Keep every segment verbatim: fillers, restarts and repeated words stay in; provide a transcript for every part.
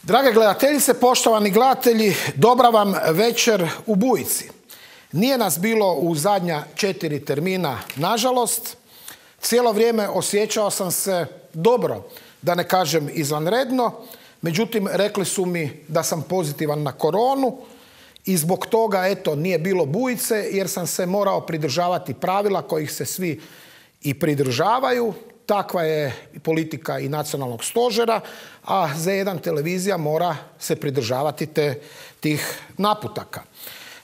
Drage gledateljice, poštovani gledatelji, dobra vam večer u Bujici. Nije nas bilo u zadnja četiri termina, nažalost. Cijelo vrijeme osjećao sam se dobro, da ne kažem izvanredno. Međutim, rekli su mi da sam pozitivan na koronu i zbog toga, eto, nije bilo Bujice jer sam se morao pridržavati pravila kojih se svi i pridržavaju. Takva je politika i nacionalnog stožera, a Z jedan televizija mora se pridržavati te, tih naputaka.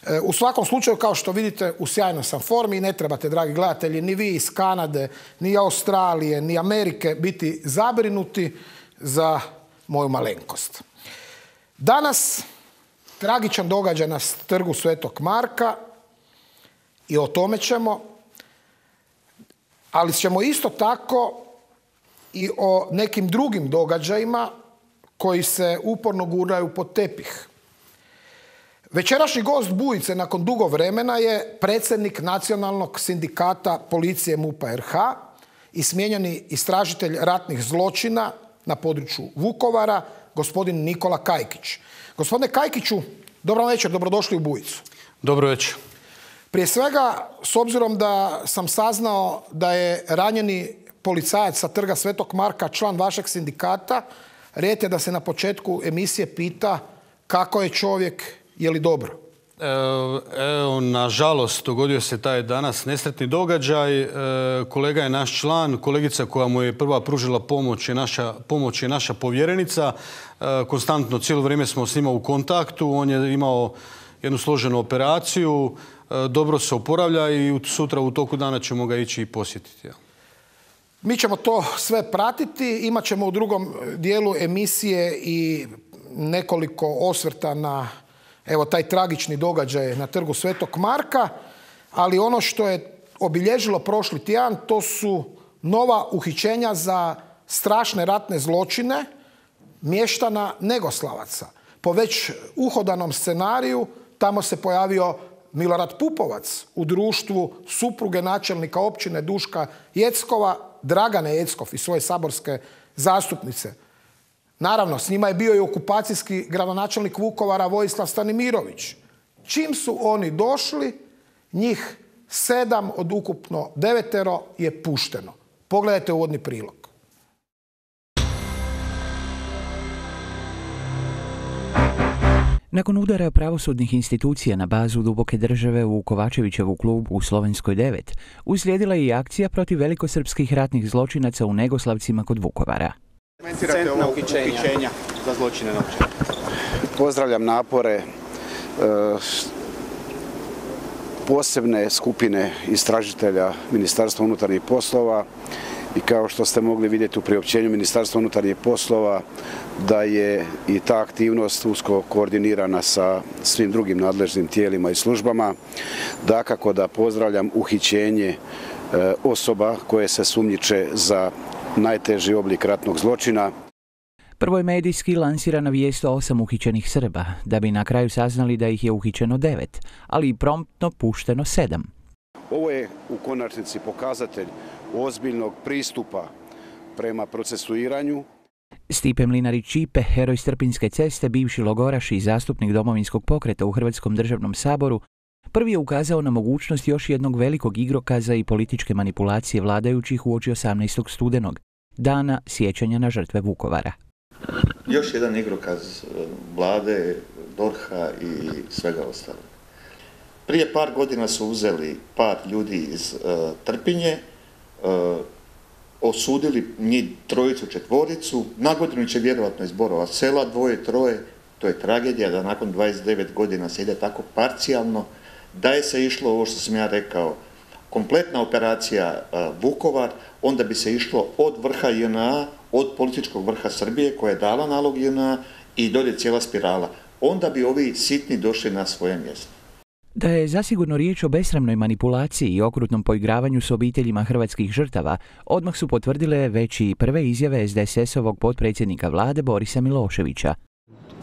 E, u svakom slučaju, kao što vidite, u sjajnoj sam formi i ne trebate, dragi gledatelji, ni vi iz Kanade, ni Australije, ni Amerike biti zabrinuti za moju malenkost. Danas tragičan događaj na trgu Svetog Marka i o tome ćemo, ali ćemo isto tako i o nekim drugim događajima koji se uporno guraju pod tepih. Večerašnji gost Bujice nakon dugo vremena je predsjednik Nacionalnog sindikata policije MUP-a R H i smijenjeni istražitelj ratnih zločina na području Vukovara, gospodin Nikola Kajkić. Gospodine Kajkiću, dobro večer, dobrodošli u Bujicu. Dobro večer. Prije svega, s obzirom da sam saznao da je ranjeni policajac sa trga Svetog Marka član vašeg sindikata, red je da se na početku emisije pita kako je čovjek, je li dobro? Evo, evo, nažalost, dogodio se taj danas nesretni događaj. E, kolega je naš član, kolegica koja mu je prva pružila pomoć je naša, pomoć je naša povjerenica. E, konstantno cijelo vrijeme smo s njima u kontaktu. On je imao jednu složenu operaciju, e, dobro se oporavlja i sutra u toku dana ćemo ga ići i posjetiti. Ja. Mi ćemo to sve pratiti. Imat ćemo u drugom dijelu emisije i nekoliko osvrta na evo taj tragični događaj na trgu Svetog Marka, ali ono što je obilježilo prošli tjedan, to su nova uhićenja za strašne ratne zločine mještana Negoslavaca. Po već uhodanom scenariju tamo se pojavio Milorad Pupovac u društvu supruge načelnika općine Duška Jeckova, Dragane Jeckov i svoje saborske zastupnice. Naravno, s njima je bio i okupacijski gradonačelnik Vukovara Vojislav Stanimirović. Čim su oni došli, njih sedam od ukupno devetero je pušteno. Pogledajte uvodni prilog. Nakon udara pravosudnih institucija na bazu duboke države u Kovačevićevu klubu u Slovenskoj devet, uslijedila je i akcija protiv velikosrpskih ratnih zločinaca u Negoslavcima kod Vukovara. Centna uhićenja za zločine novčane. Pozdravljam napore e, posebne skupine istražitelja Ministarstva unutarnjih poslova i kao što ste mogli vidjeti u priopćenju Ministarstva unutarnjih poslova da je i ta aktivnost usko koordinirana sa svim drugim nadležnim tijelima i službama. Dakako da pozdravljam uhićenje e, osoba koje se sumnjiče za najteži oblik ratnog zločina. Prvo je medijski lansirana vijest o osam uhićenih Srba, da bi na kraju saznali da ih je uhićeno devet, ali i promptno pušteno sedam. Ovo je u konačnici pokazatelj ozbiljnog pristupa prema procesuiranju. Stipe Mlinarić-Ćipe, heroj Strpinjske ceste, bivši logoraš i zastupnik Domovinskog pokreta u Hrvatskom državnom saboru, prvi je ukazao na mogućnost još jednog velikog igrokaza i političke manipulacije vladajućih uoči osamnaestog studenog, dana sjećanja na žrtve Vukovara. Još jedan igrokaz vlade, D O R H-a i svega ostalog. Prije par godina su uzeli par ljudi iz uh, Trpinje, uh, osudili njih trojicu, četvoricu, na godinu će vjerovatno iz Borova sela, dvoje, troje. To je tragedija da nakon dvadeset devet godina se ide tako parcijalno. Da je se išlo, ovo što sam ja rekao, kompletna operacija uh, Vukovar, onda bi se išlo od vrha J N A, od političkog vrha Srbije koja je dala nalog J N A i dolje cijela spirala. Onda bi ovi sitni došli na svoje mjesto. Da je zasigurno riječ o besramnoj manipulaciji i okrutnom poigravanju s obiteljima hrvatskih žrtava, odmah su potvrdile već i prve izjave S D S S-ovog potpredsjednika vlade Borisa Miloševića.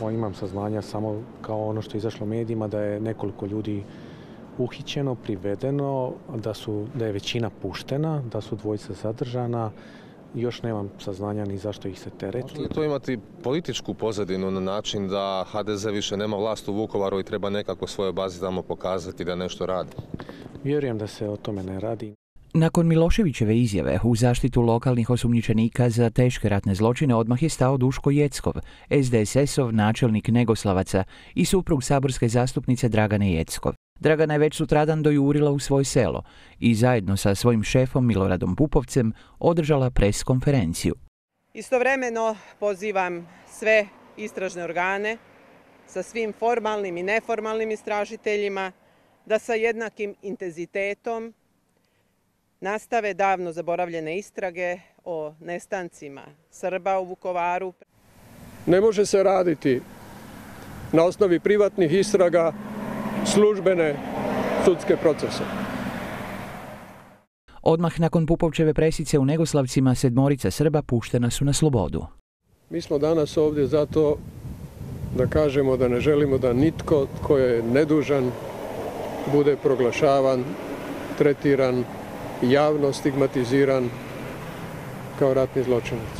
Imam saznanja samo kao ono što je izašlo medijima da je nekoliko ljudi uhićeno, privedeno, da, su, da je većina puštena, da su dvojica zadržana, još nemam saznanja ni zašto ih se tereti. Može li to imati političku pozadinu na način da ha de ze više nema vlast u Vukovaru i treba nekako svoje bazi tamo pokazati da nešto radi? Vjerujem da se o tome ne radi. Nakon Miloševićeve izjave u zaštitu lokalnih osumnjičenika za teške ratne zločine odmah je stao Duško Jeckov, es de es esov načelnik Negoslavaca i suprug saborske zastupnice Dragane Jeckov. Dragana je već sutradan dojurila u svoje selo i zajedno sa svojim šefom Miloradom Pupovcem održala pres konferenciju. Istovremeno pozivam sve istražne organe sa svim formalnim i neformalnim istražiteljima da sa jednakim intenzitetom nastave davno zaboravljene istrage o nestancima Srba u Vukovaru. Ne može se raditi na osnovi privatnih istraga službene sudske procese. Odmah nakon Pupovčeve presice u Negoslavcima sedmorica Srba puštena su na slobodu. Mi smo danas ovdje zato da kažemo da ne želimo da nitko tko je nedužan bude proglašavan, tretiran, javno stigmatiziran kao ratni zločinac.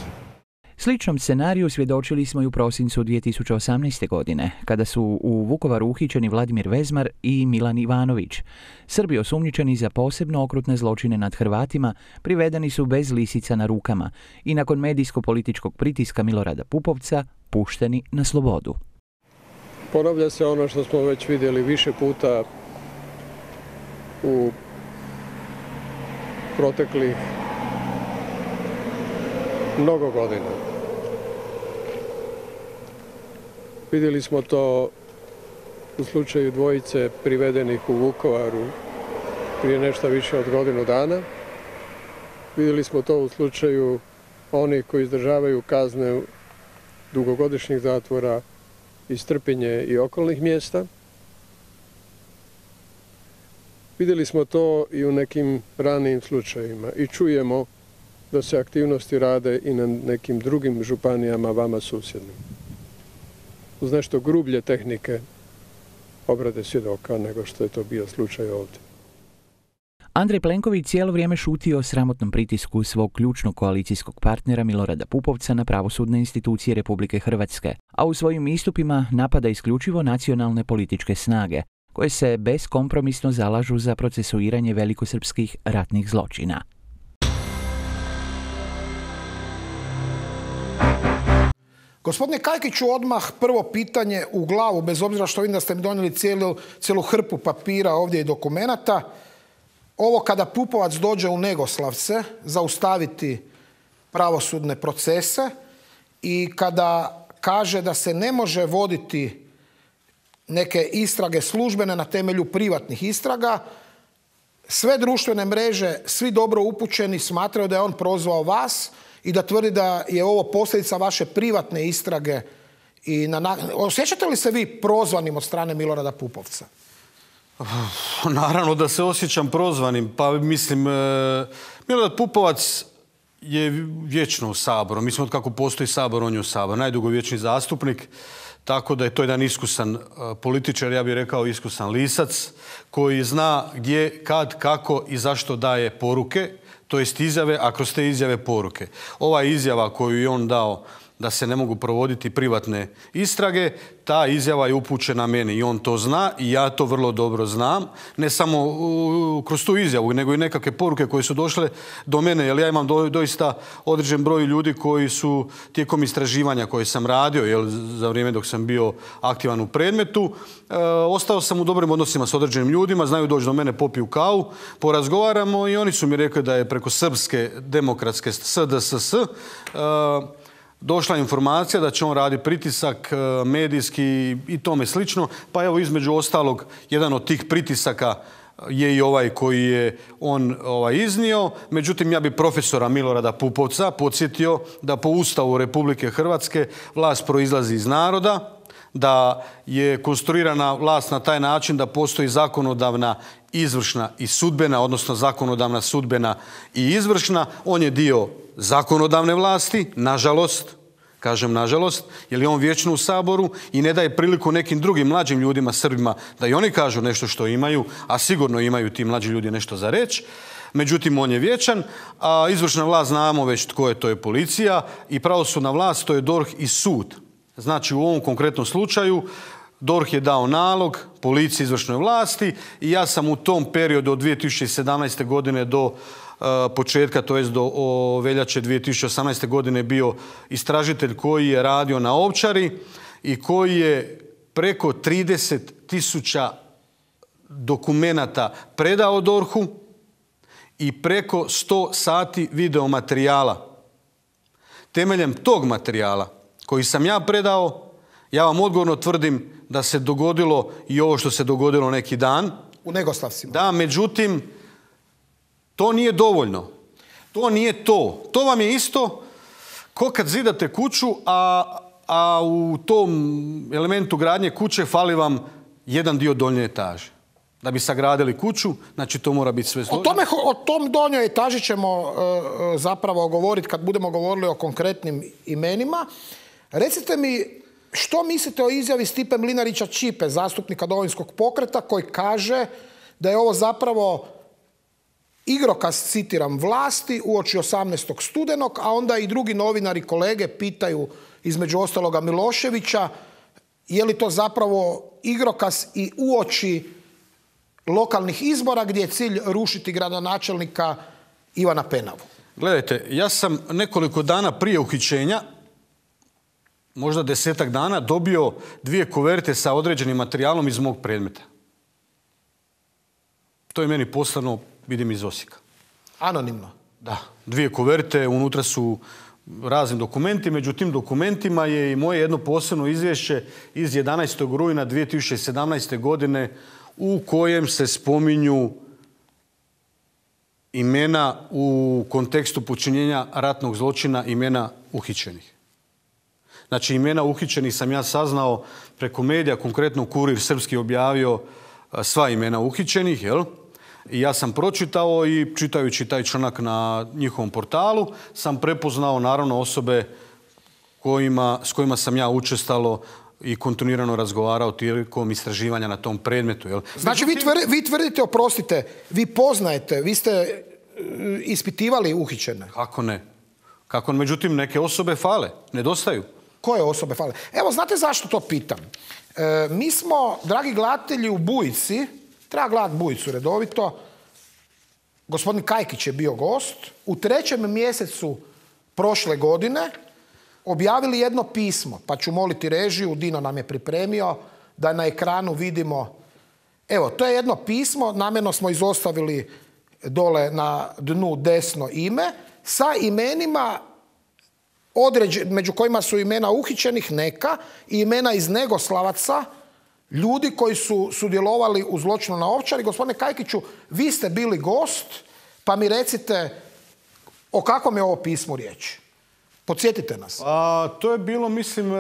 Sličnom scenariju svjedočili smo i u prosincu dvije tisuće osamnaeste. godine, kada su u Vukovaru uhićeni Vladimir Vezmar i Milan Ivanović. Srbi osumnjičeni za posebno okrutne zločine nad Hrvatima privedeni su bez lisica na rukama i nakon medijsko-političkog pritiska Milorada Pupovca pušteni na slobodu. Ponavlja se ono što smo već vidjeli više puta u proteklih mnogo godina. Vidjeli smo to u slučaju dvojice privedenih u Vukovaru prije nešto više od godinu dana. Vidjeli smo to u slučaju onih koji izdržavaju kazne dugogodišnjih zatvora iz Trpinje i okolnih mjesta. Vidjeli smo to i u nekim ranijim slučajevima i čujemo da se aktivnosti rade i na nekim drugim županijama vama susjednim. Uz nešto grublje tehnike obrade svjedoka nego što je to bio slučaj ovdje. Andrej Plenković cijelo vrijeme šutio o sramotnom pritisku svog ključnog koalicijskog partnera Milorada Pupovca na pravosudne institucije Republike Hrvatske, a u svojim istupima napada isključivo nacionalne političke snage, koje se beskompromisno zalažu za procesuiranje velikosrpskih ratnih zločina. Gospodine Kajkiću, odmah prvo pitanje u glavu, bez obzira što vidim da ste mi donijeli cijelu, cijelu hrpu papira ovdje i dokumenata. Ovo kada Pupovac dođe u Negoslavce zaustaviti pravosudne procese i kada kaže da se ne može voditi neke istrage službene na temelju privatnih istraga, sve društvene mreže, svi dobro upućeni smatraju da je on prozvao vas i da tvrdi da je ovo posljedica vaše privatne istrage. I na... Osjećate li se vi prozvanim od strane Milorada Pupovca? Naravno da se osjećam prozvanim. Pa mislim, Milorad Pupovac je vječno u Saboru. Mislim, od kako postoji Sabor, on je u Saboru. Najdugovječniji zastupnik. Tako da je to jedan iskusan političar, ja bih rekao iskusan lisac, koji zna gdje, kad, kako i zašto daje poruke, to jest izjave, a kroz te izjave poruke. Ova izjava koju je on dao da se ne mogu provoditi privatne istrage, ta izjava je upućena meni i on to zna i ja to vrlo dobro znam. Ne samo uh, kroz tu izjavu, nego i nekakve poruke koje su došle do mene, jer ja imam do, doista određen broj ljudi koji su tijekom istraživanja koje sam radio, jel, za vrijeme dok sam bio aktivan u predmetu, uh, ostao sam u dobrim odnosima s određenim ljudima, znaju doći do mene, popiju kavu, porazgovaramo i oni su mi rekli da je preko Srpske demokratske S D S S uh, došla informacija da će on raditi pritisak medijski i tome slično. Pa evo, između ostalog, jedan od tih pritisaka je i ovaj koji je on ovaj, iznio. Međutim, ja bi profesora Milorada Pupovca podsjetio da po Ustavu Republike Hrvatske vlast proizlazi iz naroda, da je konstruirana vlast na taj način da postoji zakonodavna, izvršna i sudbena, odnosno zakonodavna, sudbena i izvršna. On je dio zakonodavne vlasti, nažalost, kažem nažalost, jer je on vječno u Saboru i ne daje priliku nekim drugim mlađim ljudima, Srbima, da i oni kažu nešto što imaju, a sigurno imaju ti mlađi ljudi nešto za reći. Međutim, on je vječan, a izvršna vlast znamo već tko je, to je policija, i pravosudna vlast, to je D O R H i sud. Znači, u ovom konkretnom slučaju D O R H je dao nalog policiji, izvršnoj vlasti, i ja sam u tom periodu od dvije tisuće sedamnaeste. godine do uh, početka, to jest do o, veljače dvije tisuće osamnaeste. godine bio istražitelj koji je radio na Ovčari i koji je preko trideset tisuća dokumenata predao D O R H-u i preko sto sati videomaterijala. Temeljem tog materijala koji sam ja predao, ja vam odgovorno tvrdim da se dogodilo i ovo što se dogodilo neki dan. U Negoslavcima. Da, međutim, to nije dovoljno. To nije to. To vam je isto ko kad zidate kuću, a, a u tom elementu gradnje kuće fali vam jedan dio donje etaže. Da bi sagradili kuću, znači to mora biti sve složeno. O tome, o tom donjoj etaži ćemo uh, zapravo govoriti kad budemo govorili o konkretnim imenima. Recite mi, što mislite o izjavi Stipe Mlinarića Ćipe, zastupnika Domovinskog pokreta, koji kaže da je ovo zapravo igrokaz, citiram, vlasti uoči osamnaestog studenog, a onda i drugi novinari kolege pitaju, između ostaloga Miloševića, je li to zapravo igrokaz i uoči lokalnih izbora gdje je cilj rušiti gradonačelnika Ivana Penavu? Gledajte, ja sam nekoliko dana prije uhićenja, možda desetak dana, dobio dvije kuverte sa određenim materijalom iz mog predmeta. To je meni poslano, vidim, iz Osijeka. Anonimno? Da. Dvije kuverte, unutra su razni dokumenti. Među tim dokumentima je i moje jedno posebno izvješće iz jedanaestog rujna dvije tisuće sedamnaeste. godine u kojem se spominju imena u kontekstu počinjenja ratnog zločina, imena uhićenih. Znači, imena uhićenih sam ja saznao preko medija, konkretno Kurir srpski objavio sva imena uhićenih, jel? I ja sam pročitao i čitajući taj članak na njihovom portalu sam prepoznao naravno osobe kojima, s kojima sam ja učestalo i kontinuirano razgovarao tijekom istraživanja na tom predmetu. Jel? Znači, vi, tvrdi, vi tvrdite, oprostite, vi poznajete, vi ste ispitivali uhićene? Kako ne? Kako ne? Međutim, neke osobe fale, nedostaju. Koje osobe fale? Evo, znate zašto to pitam? E, mi smo, dragi gledatelji, u Bujici, treba gledati Bujicu redovito, gospodin Kajkić je bio gost, u trećem mjesecu prošle godine objavili jedno pismo, pa ću moliti režiju, Dino nam je pripremio, da na ekranu vidimo. Evo, to je jedno pismo, namjerno smo izostavili dole na dnu desno ime, sa imenima, određen, među kojima su imena uhićenih neka i imena iz Negoslavaca, ljudi koji su sudjelovali u zločinu na Ovčari. Gospodine Kajkiću, vi ste bili gost, pa mi recite o kakvom je ovo pismu riječ. Podsjetite nas. A, to je bilo, mislim,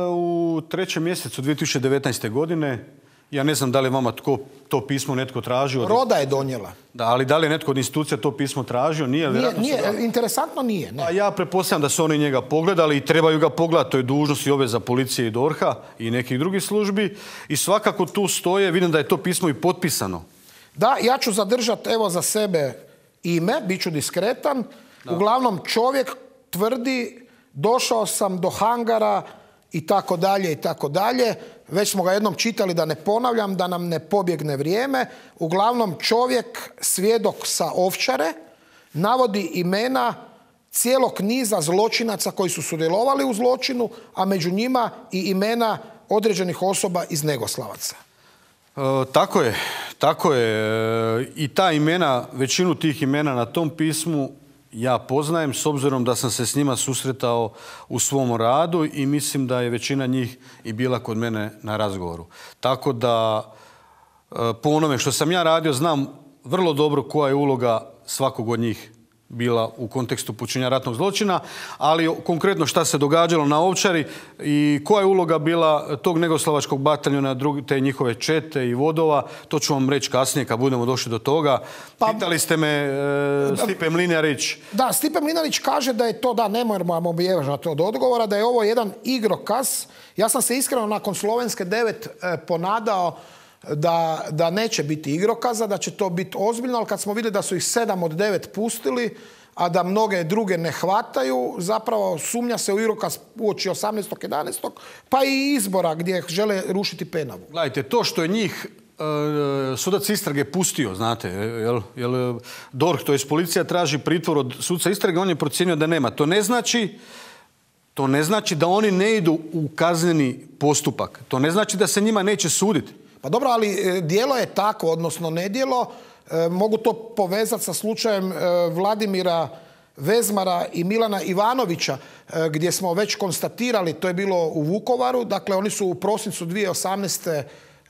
u trećem mjesecu dvije tisuće devetnaeste. godine. Ja ne znam da li vama tko, to pismo netko tražio. Roda je donijela. Da, ali da li je netko od institucija to pismo tražio? Nije. Nije, nije interesantno nije. Ne. A ja pretpostavljam da su oni njega pogledali i trebaju ga pogledati. To je dužnost i obveza policije i D O R H-a i nekih drugih službi. I svakako tu stoje, vidim da je to pismo i potpisano. Da, ja ću zadržati evo za sebe ime, bit ću diskretan. Da. Uglavnom čovjek tvrdi, došao sam do hangara i tako dalje i tako dalje. Već smo ga jednom čitali, da ne ponavljam, da nam ne pobjegne vrijeme. Uglavnom čovjek, svjedok sa Ovčare, navodi imena cijelog niza zločinaca koji su sudjelovali u zločinu, a među njima i imena određenih osoba iz Negoslavaca. E, tako je, tako je. I ta imena, većinu tih imena na tom pismu ja poznajem, s obzirom da sam se s njima susretao u svom radu i mislim da je većina njih i bila kod mene na razgovoru. Tako da, po onome što sam ja radio, znam vrlo dobro koja je uloga svakog od njih bila u kontekstu počinjenja ratnog zločina, ali konkretno šta se događalo na Ovčari i koja je uloga bila tog Negoslavačkog bataljona, te njihove čete i vodova, to ću vam reći kasnije kad budemo došli do toga. Pa, pitali ste me e, Stipe Mlinarić. Da, Stipe Mlinarić kaže da je to, da, ne moramo bježati od odgovora, da je ovo jedan igrokaz. Ja sam se iskreno nakon Slovenske devet e, ponadao Da, da neće biti igrokaza, da će to biti ozbiljno, ali kad smo vidjeli da su ih sedam od devet pustili, a da mnoge druge ne hvataju, zapravo sumnja se u igrokaz uoči osamnaestog jedanaestog pa i izbora gdje žele rušiti Penavu. Gledajte, to što je njih e, sudac istrage pustio, znate, jel, jel D O R H, to je policija, traži pritvor od sudca istrage, on je procijenio da nema. To ne znači To ne znači da oni ne idu u kazneni postupak. To ne znači da se njima neće suditi. Pa dobro, ali djelo je tako, odnosno nedjelo. E, mogu to povezati sa slučajem e, Vladimira Vezmara i Milana Ivanovića, e, gdje smo već konstatirali, to je bilo u Vukovaru, dakle oni su u prosincu dvije tisuće osamnaeste.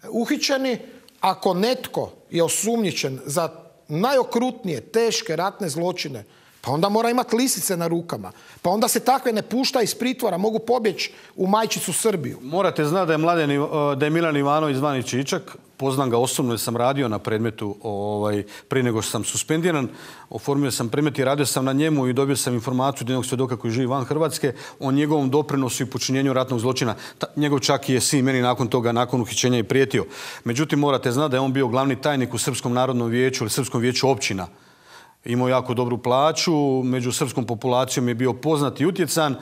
uhićeni. Ako netko je osumnjičen za najokrutnije, teške ratne zločine, pa onda mora imati lisice na rukama. Pa onda se takve ne pušta iz pritvora, mogu pobjeći u majčicu Srbiju. Morate znati da je, Mladen, da je Milan Ivanović zvani Čičak. Poznam ga osobno jer sam radio na predmetu ovaj, prije nego što sam suspendiran. Oformio sam predmet i radio sam na njemu i dobio sam informaciju od jednog svjedoka koji živi van Hrvatske o njegovom doprinosu i počinjenju ratnog zločina. Ta, njegov čak je sin meni nakon toga, nakon uhićenja i prijetio. Međutim, morate znati da je on bio glavni tajnik u Srpskom narodnom vijeću ili Srpskom vijeću općina. Imao jako dobru plaću, među srpskom populacijom je bio poznat i utjecan,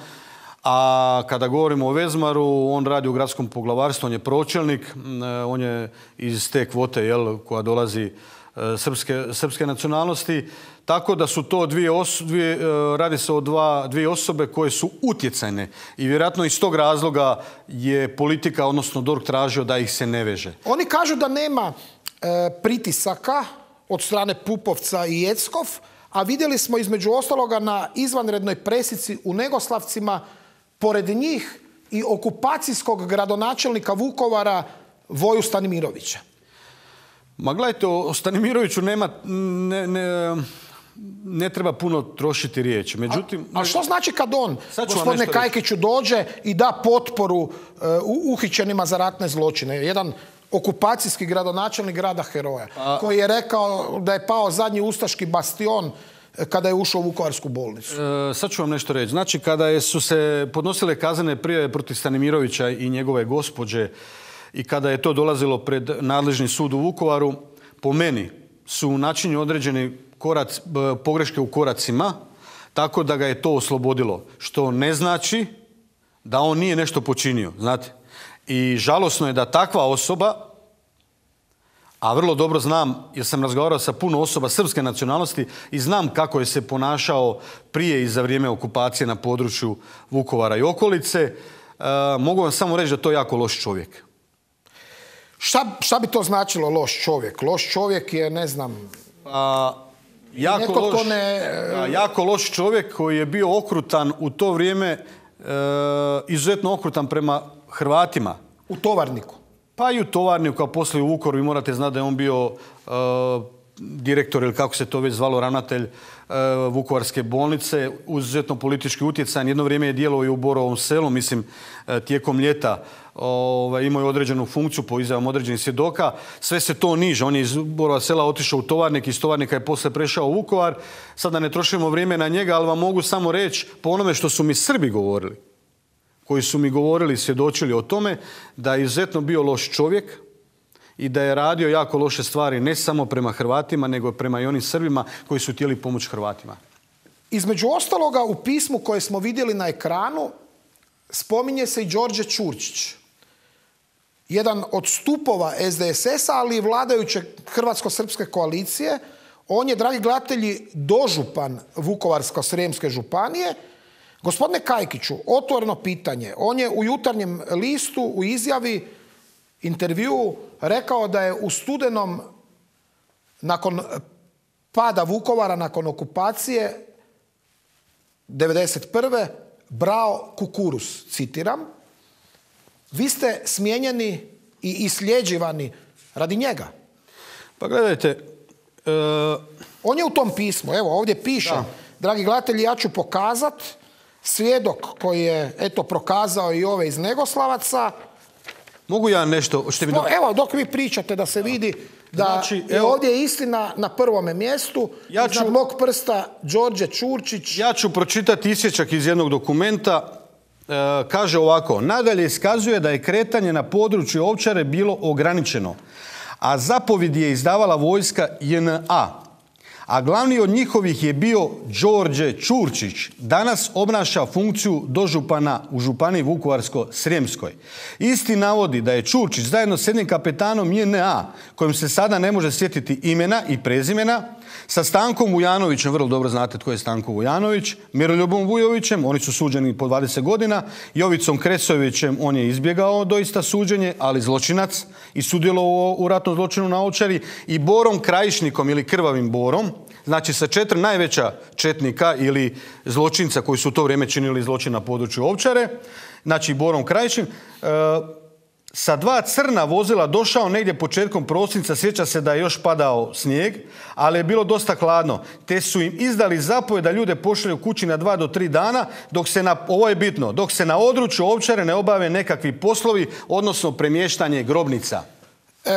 a kada govorimo o Vezmaru, on radi u gradskom poglavarstvu, on je pročelnik, on je iz te kvote, jel, koja dolazi srpske, srpske nacionalnosti, tako da su to dvije, os, dvije radi se o dva, dvije osobe koje su utjecajne i vjerojatno iz tog razloga je politika, odnosno D O R H tražio da ih se ne veže. Oni kažu da nema e, pritisaka od strane Pupovca i Jeckov, a vidjeli smo između ostaloga na izvanrednoj presici u Negoslavcima pored njih i okupacijskog gradonačelnika Vukovara Voju Stanimirovića. Ma gledajte, o Stanimiroviću nema, ne, ne, ne treba puno trošiti riječi. Međutim, a, a što znači kad on, gospodine Kajkiću, dođe i da potporu uh, uhićenima za ratne zločine? Jedan okupacijski gradonačelnik grada heroja, a, koji je rekao da je pao zadnji ustaški bastion kada je ušao u Vukovarsku bolnicu. E, sad ću vam nešto reći. Znači, kada je, su se podnosile kaznene prijave protiv Stanimirovića i njegove gospođe i kada je to dolazilo pred nadležni sud u Vukovaru, po meni su načinjeni određeni korac, pogreške u koracima, tako da ga je to oslobodilo. Što ne znači da on nije nešto počinio, znate. I žalosno je da takva osoba, a vrlo dobro znam, jer sam razgovarao sa puno osoba srpske nacionalnosti i znam kako je se ponašao prije i za vrijeme okupacije na području Vukovara i okolice, e, mogu vam samo reći da to je jako loš čovjek. Šta, šta bi to značilo loš čovjek? Loš čovjek je, ne znam... A, jako, loš, ne... a, jako loš čovjek koji je bio okrutan u to vrijeme, e, izuzetno okrutan prema Hrvatima. U Tovarniku? Pa i u Tovarniku, kao poslije u Vukovaru. Vi morate znati da je on bio uh, direktor, ili kako se to već zvalo, ravnatelj uh, Vukovarske bolnice, izuzetno politički utjecajan. Jedno vrijeme je djelovao i u Borovom selu, mislim, uh, tijekom ljeta. Uh, imao je određenu funkciju po izjavama određenih svjedoka. Sve se to niže. On je iz Borova sela otišao u Tovarnik, iz Tovarnika je poslije prešao u Vukovar. Sada ne trošimo vrijeme na njega, ali vam mogu samo reći po onome što su mi Srbi govorili, koji su mi govorili i svjedočili o tome da je izuzetno bio loš čovjek i da je radio jako loše stvari ne samo prema Hrvatima, nego prema i onim Srbima koji su htjeli pomoći Hrvatima. Između ostaloga, u pismu koje smo vidjeli na ekranu spominje se i Đorđe Čurčić. Jedan od stupova S D S S-a, ali i vladajuće hrvatsko-srpske koalicije. On je, dragi gledatelji, dožupan Vukovarsko-srijemske županije. Gospodine Kajkiću, otvoreno pitanje. On je u Jutarnjem listu u izjavi, intervjuu, rekao da je u studenom, nakon pada Vukovara, nakon okupacije devedeset prve brao kukuruz, citiram. Vi ste smijenjeni i isljeđivani radi njega. Pa gledajte... Uh... On je u tom pismu, evo ovdje piše, da. Dragi gledatelji, ja ću pokazat svjedok koji je eto prokazao i ove iz Negoslavaca. Mogu ja nešto? Što mi... Evo, dok vi pričate da se vidi da znači, je evo, ovdje istina na prvome mjestu. Ja ću, iznad mog prsta Đorđe Čurčić. Ja ću pročitati isječak iz jednog dokumenta. E, kaže ovako: nadalje iskazuje da je kretanje na području Ovčare bilo ograničeno, a zapovjed je izdavala vojska J N A. A glavni od njihovih je bio Đorđe Čurčić. Danas obnaša funkciju dožupana u županiji Vukovarsko-srijemskoj. Isti navodi da je Čurčić zajedno s jednim kapetanom J N A, kojim se sada ne može sjetiti imena i prezimena, sa Stankom Vujanovićem, vrlo dobro znate tko je Stanko Vujanović, Miroljubom Vujovićem, oni su suđeni po dvadeset godina, Jovicom Kresovićem, on je izbjegao doista suđenje, ali zločinac i sudjelovao u ratnom zločinu na Ovčari, i Borom Krajišnikom ili Krvavim Borom, znači sa četiri najveća četnika ili zločinca koji su u to vrijeme činili zločin na području Ovčare, znači Borom Krajišnik, e, sa dva crna vozila došao negdje početkom prosinca, sjeća se da je još padao snijeg, ali je bilo dosta hladno, te su im izdali zapovjed da ljude pošalju kući na dva do tri dana, dok se na, ovo je bitno, dok se na području Ovčare ne obave nekakvi poslovi, odnosno premještanje grobnica. E,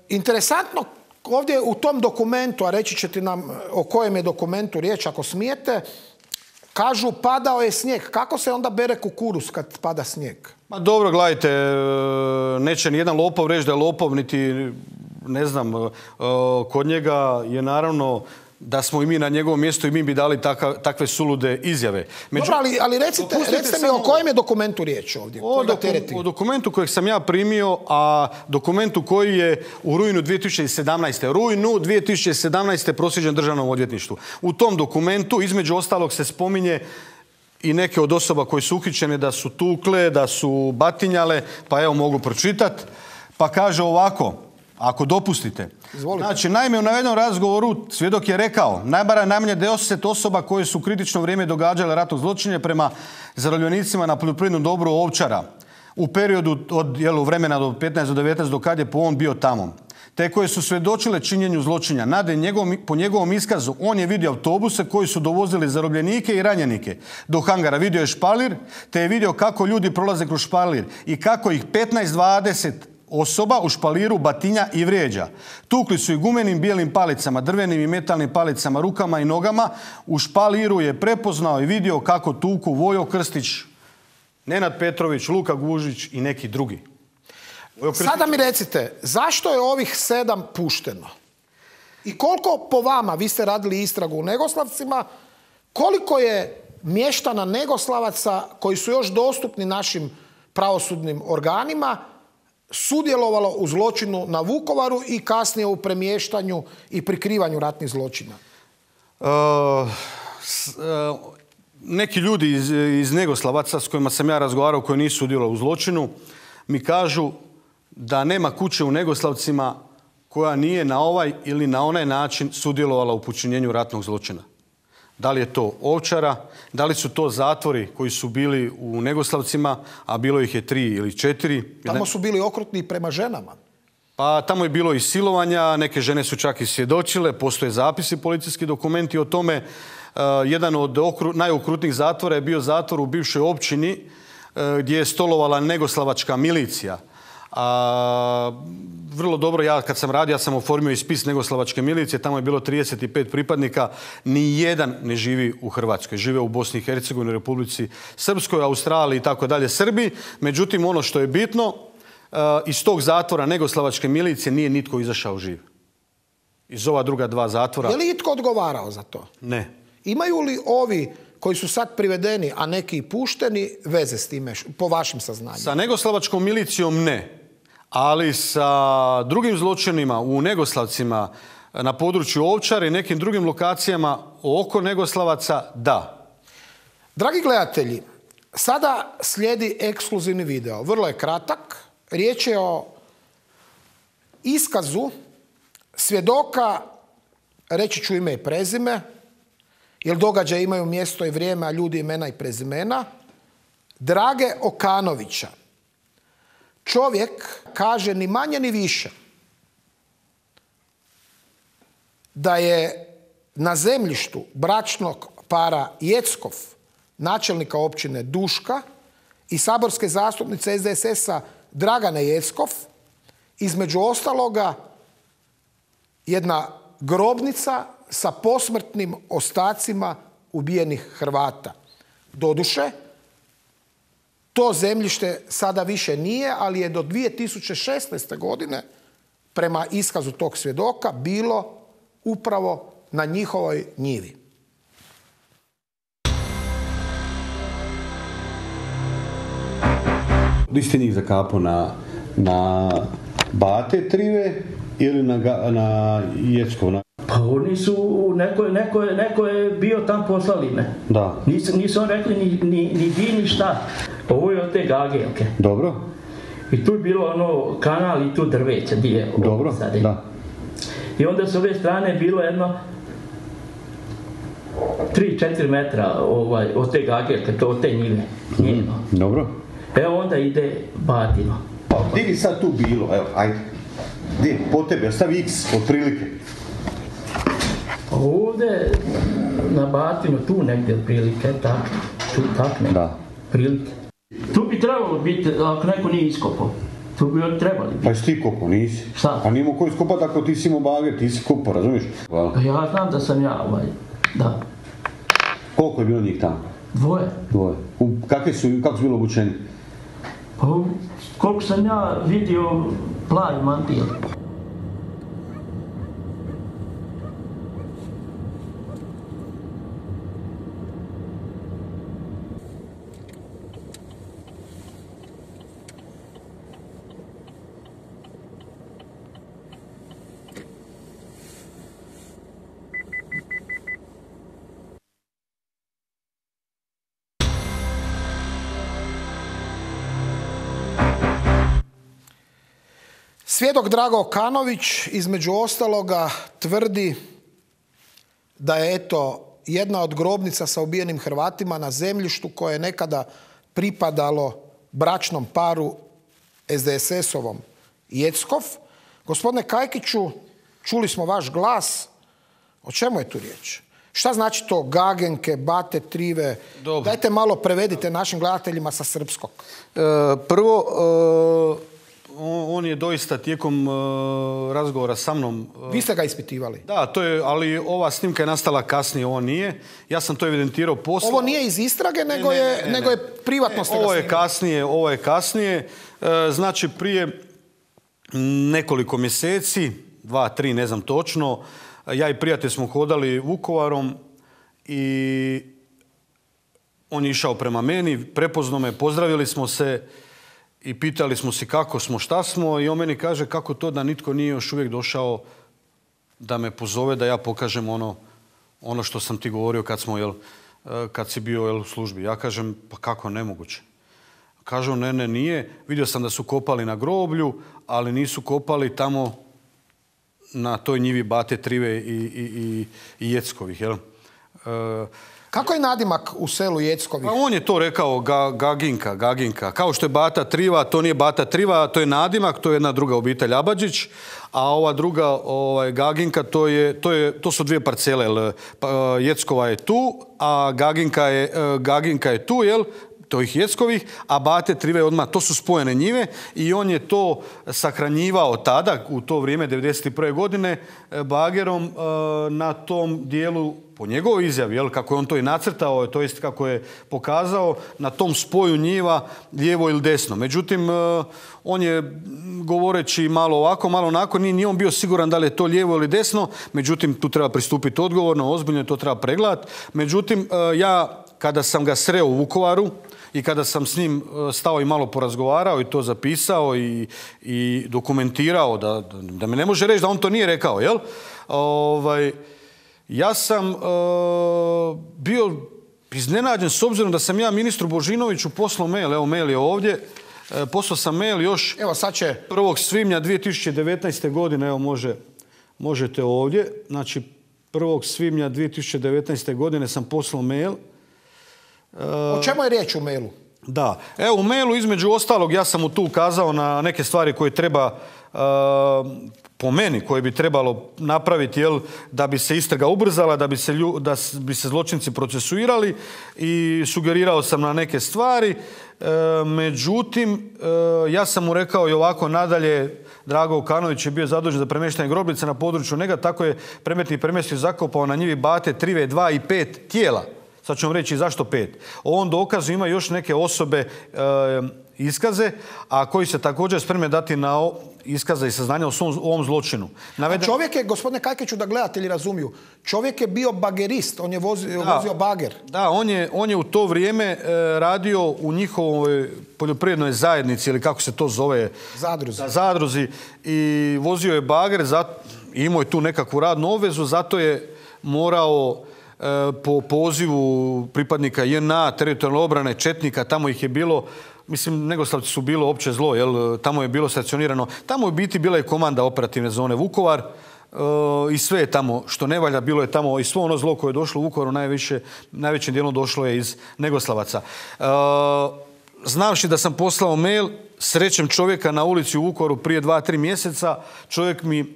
interesantno, ovdje u tom dokumentu, a reći ćete nam o kojem je dokumentu riječ ako smijete, kažu padao je snijeg. Kako se onda bere kukuruz kad pada snijeg? Ma dobro, gledajte, neće nijedan lopov reći da je lopov, niti, ne znam, kod njega je naravno da smo i mi na njegovom mjestu i mi bi dali taka, takve sulude izjave. Među... Dobro, ali, ali recite, recite mi o kojem je dokumentu riječ ovdje? O, doku, o dokumentu kojeg sam ja primio, a dokumentu koji je u rujnu dvije tisuće sedamnaeste. Rujnu dvije tisuće sedamnaeste proslijeđen Državnom odvjetništvu. U tom dokumentu, između ostalog, se spominje i neke od osoba koje su uhićene da su tukle, da su batinjale, pa evo mogu pročitati. Pa kaže ovako, ako dopustite. Izvolite. Znači, naime, u navedenom razgovoru svjedok je rekao: najbara najmanje deset osoba koje su u kritično vrijeme događale ratno zločine prema zarobljenicima na poljoprivrednom dobru Ovčara u periodu od jel, vremena do petnaest do devetnaest do kad je po on bio tamo, te koje su svjedočile činjenju zločinja. Nade, njegov, po njegovom iskazu, on je vidio autobuse koji su dovozili zarobljenike i ranjenike do hangara. Vidio je špalir, te je vidio kako ljudi prolaze kroz špalir i kako ih petnaest dvadeset osoba u špaliru batinja i vrijeđa. Tukli su i gumenim bijelim palicama, drvenim i metalnim palicama, rukama i nogama. U špaliru je prepoznao i vidio kako tuku Vojo Krstić, Nenad Petrović, Luka Gužić i neki drugi. Sada mi recite, zašto je ovih sedam pušteno? I koliko po vama, vi ste radili istragu u Negoslavcima, koliko je mještana Negoslavaca koji su još dostupni našim pravosudnim organima sudjelovalo u zločinu na Vukovaru i kasnije u premještanju i prikrivanju ratnih zločina? Uh, s, uh, neki ljudi iz, iz Negoslavaca s kojima sam ja razgovarao, koji nisu sudjelovali u zločinu, mi kažu da nema kuće u Negoslavcima koja nije na ovaj ili na onaj način sudjelovala u počinjenju ratnog zločina. Da li je to Ovčara, da li su to zatvori koji su bili u Negoslavcima, a bilo ih je tri ili četiri. Tamo su bili okrutni prema ženama. Pa tamo je bilo i silovanja, neke žene su čak i svjedočile, postoje zapisi, policijski dokumenti o tome. Uh, jedan od okru, najokrutnijih zatvora je bio zatvor u bivšoj općini uh, gdje je stolovala negoslavačka milicija. A, vrlo dobro, ja kad sam radio, ja sam oformio i spis Negoslavačke milicije, tamo je bilo trideset pet pripadnika, ni jedan ne živi u Hrvatskoj, žive u Bosni i Hercegovini, Republici Srpskoj, Australiji i tako dalje, Srbiji. Međutim, ono što je bitno, iz tog zatvora Negoslavačke milicije nije nitko izašao živ. Iz ova druga dva zatvora. Je li itko odgovarao za to? Ne. Imaju li ovi koji su sad privedeni, a neki pušteni, veze s time, po vašim saznanjima? Sa Negoslavačkom milicijom ne. Ali sa drugim zločinima u Negoslavcima, na području Ovčare i nekim drugim lokacijama oko Negoslavaca, da. Dragi gledatelji, sada slijedi ekskluzivni video. Vrlo je kratak. Riječ je o iskazu svjedoka, reći ću ime i prezime, jer događaje imaju mjesto i vrijeme, a ljudi imena i prezimena, Drage Okanovića. Čovjek kaže ni manje ni više da je na zemljištu bračnog para Jeckov, načelnika općine Duška, i saborske zastupnice S D S S-a Dragane Jeckov, između ostaloga jedna grobnica sa posmrtnim ostacima ubijenih Hrvata. Doduše, to zemljište sada više nije, ali je do dvije tisuće šesnaeste. godine prema iskazu tog svjedoka bilo upravo na njihovoj njivi. Di ste njih zakapao na, na Bate Trive ili na, na Jeckov? Pa oni su, neko, neko, neko je bio tam, poslali me. Da. Nisu, nisu on rekli ni, ni, ni di ni šta. Ovo je od te gagelke. Dobro. I tu je bilo ono kanal i tu drveće di je. Dobro, da. I onda s ove strane bilo jedno tri četiri metra ovaj, od te gagelke, to od te njive. Njeno. Mm, dobro. Evo onda ide Batino. Pa gdje bi sad tu bilo? Evo, ajde. Gdje? Po tebi, stavi X, otprilike. Ovdje na Batinu, tu negdje otprilike, tak, tu tak negdje. Da. Prilike. Tu bi trebalo biti, ako neko nije iskopao. Tu bi oni trebali biti. Pa jesi ti kopao, nisi? Šta? Pa nije mo ko iskopati ako ti si imao bager, ti si kopao, razumiješ? Hvala. Pa ja znam da sam ja, ovaj, da. Koliko je bilo njih tamo? Dvoje. Dvoje. U, kakve su, kako su bilo obučeni? Pa koliko sam ja vidio plavi mantil. Svjedok Drago Kanović između ostaloga tvrdi da je eto jedna od grobnica sa ubijenim Hrvatima na zemljištu koje je nekada pripadalo bračnom paru S D S S-ovom Jeckov. Gospodine Kajkiću, čuli smo vaš glas. O čemu je tu riječ? Šta znači to gagenke, Bate Trive? Dobro. Dajte malo prevedite našim gledateljima sa srpskog. E, prvo, e... on je doista tijekom uh, razgovora sa mnom... Uh, Vi ste ga ispitivali? Da, to je, ali ova snimka je nastala kasnije, ovo nije. Ja sam to evidentirao poslije. Ovo nije iz istrage, nego, ne, ne, ne, je, nego je privatno ste ga ovo je kasnije, ovo je kasnije. Uh, znači, prije nekoliko mjeseci, dva, tri, ne znam točno, ja i prijatelj smo hodali Vukovarom i on je išao prema meni, prepoznao me, pozdravili smo se i pitali smo se kako smo, šta smo, i on meni kaže kako to da nitko nije još uvijek došao da me pozove, da ja pokažem ono, ono što sam ti govorio kad, smo, jel, kad si bio jel, u službi. Ja kažem, pa kako, nemoguće. Kažu, ne, ne, nije. Vidio sam da su kopali na groblju, ali nisu kopali tamo na toj njivi Bate Trive i, i, i, i Jeckovih. Jel? E, Kako je nadimak u selu Jeckovih? Pa on je to rekao, ga, Gaginka, Gaginka. Kao što je Bata Triva, to nije Bata Triva, to je nadimak, to je jedna druga obitelj Abadžić, a ova druga ovaj, Gaginka, to, je, to, je, to su dvije parcele. Jeckova je tu, a Gaginka je, Gaginka je tu, jel? To ih Jeckovih, a Bate Trive odmah, to su spojene njive i on je to sahranjivao tada, u to vrijeme, devedeset prve godine, bagerom na tom dijelu, po njegovoj izjavi, jel, kako je on to i nacrtao, to jest kako je pokazao, na tom spoju njiva lijevo ili desno. Međutim, on je, govoreći malo ovako, malo onako, nije, nije on bio siguran da li je to lijevo ili desno, međutim, tu treba pristupiti odgovorno, ozbiljno, to treba pregledati. Međutim, ja, kada sam ga sreo u Vukovaru, i kada sam s njim stao i malo porazgovarao i to zapisao i, i dokumentirao, da, da me ne može reći da on to nije rekao, jel? Ovaj, ja sam uh, bio iznenađen s obzirom da sam ja ministru Božinoviću poslao mail, evo mail je ovdje, e, poslao sam mail još evo, sad će... prvog svibnja dvije tisuće devetnaeste. godine, evo može, možete ovdje, znači prvog svibnja dvije tisuće devetnaeste. godine sam poslao mail. O čemu je riječ u mailu? Da, evo u mailu između ostalog ja sam mu tu ukazao na neke stvari koje treba uh, po meni, koje bi trebalo napraviti, jel, da bi se istraga ubrzala, da bi se, lju, da bi se zločinci procesuirali, i sugerirao sam na neke stvari. E, međutim, e, ja sam mu rekao i ovako nadalje, Drago Vukanović je bio zadužen za premještanje grobljice na području Nega, tako je Premetnik premjestio zakopao na njivi Bate Trive dva i pet tijela. Sad ću vam reći zašto pet. O ovom dokazu ima još neke osobe e, iskaze, a koji se također spreme dati na iskaze i saznanja o svom, ovom zločinu. Naveden... Čovjek je, gospodine Kajkeću, da gledatelji razumiju, čovjek je bio bagerist, on je vozio, da, vozio bager. Da, on je, on je u to vrijeme e, radio u njihovoj poljoprivrednoj zajednici, ili kako se to zove? Zadruzi. Da, zadruzi. I vozio je bager, zato, imao je tu nekakvu radnu obvezu, zato je morao e, po pozivu pripadnika J N A, teritorijalne obrane, četnika, tamo ih je bilo. Mislim, Negoslavci su bilo opće zlo, jel? Tamo je bilo stacionirano. Tamo je u biti bila i komanda operativne zone Vukovar e, i sve je tamo što ne valja, bilo je tamo i svo ono zlo koje je došlo u Vukovaru, najviše, najvećim dijelom došlo je iz Negoslavaca. E, znavši da sam poslao mail, srećem čovjeka na ulici u Vukovaru prije dva, tri mjeseca, čovjek mi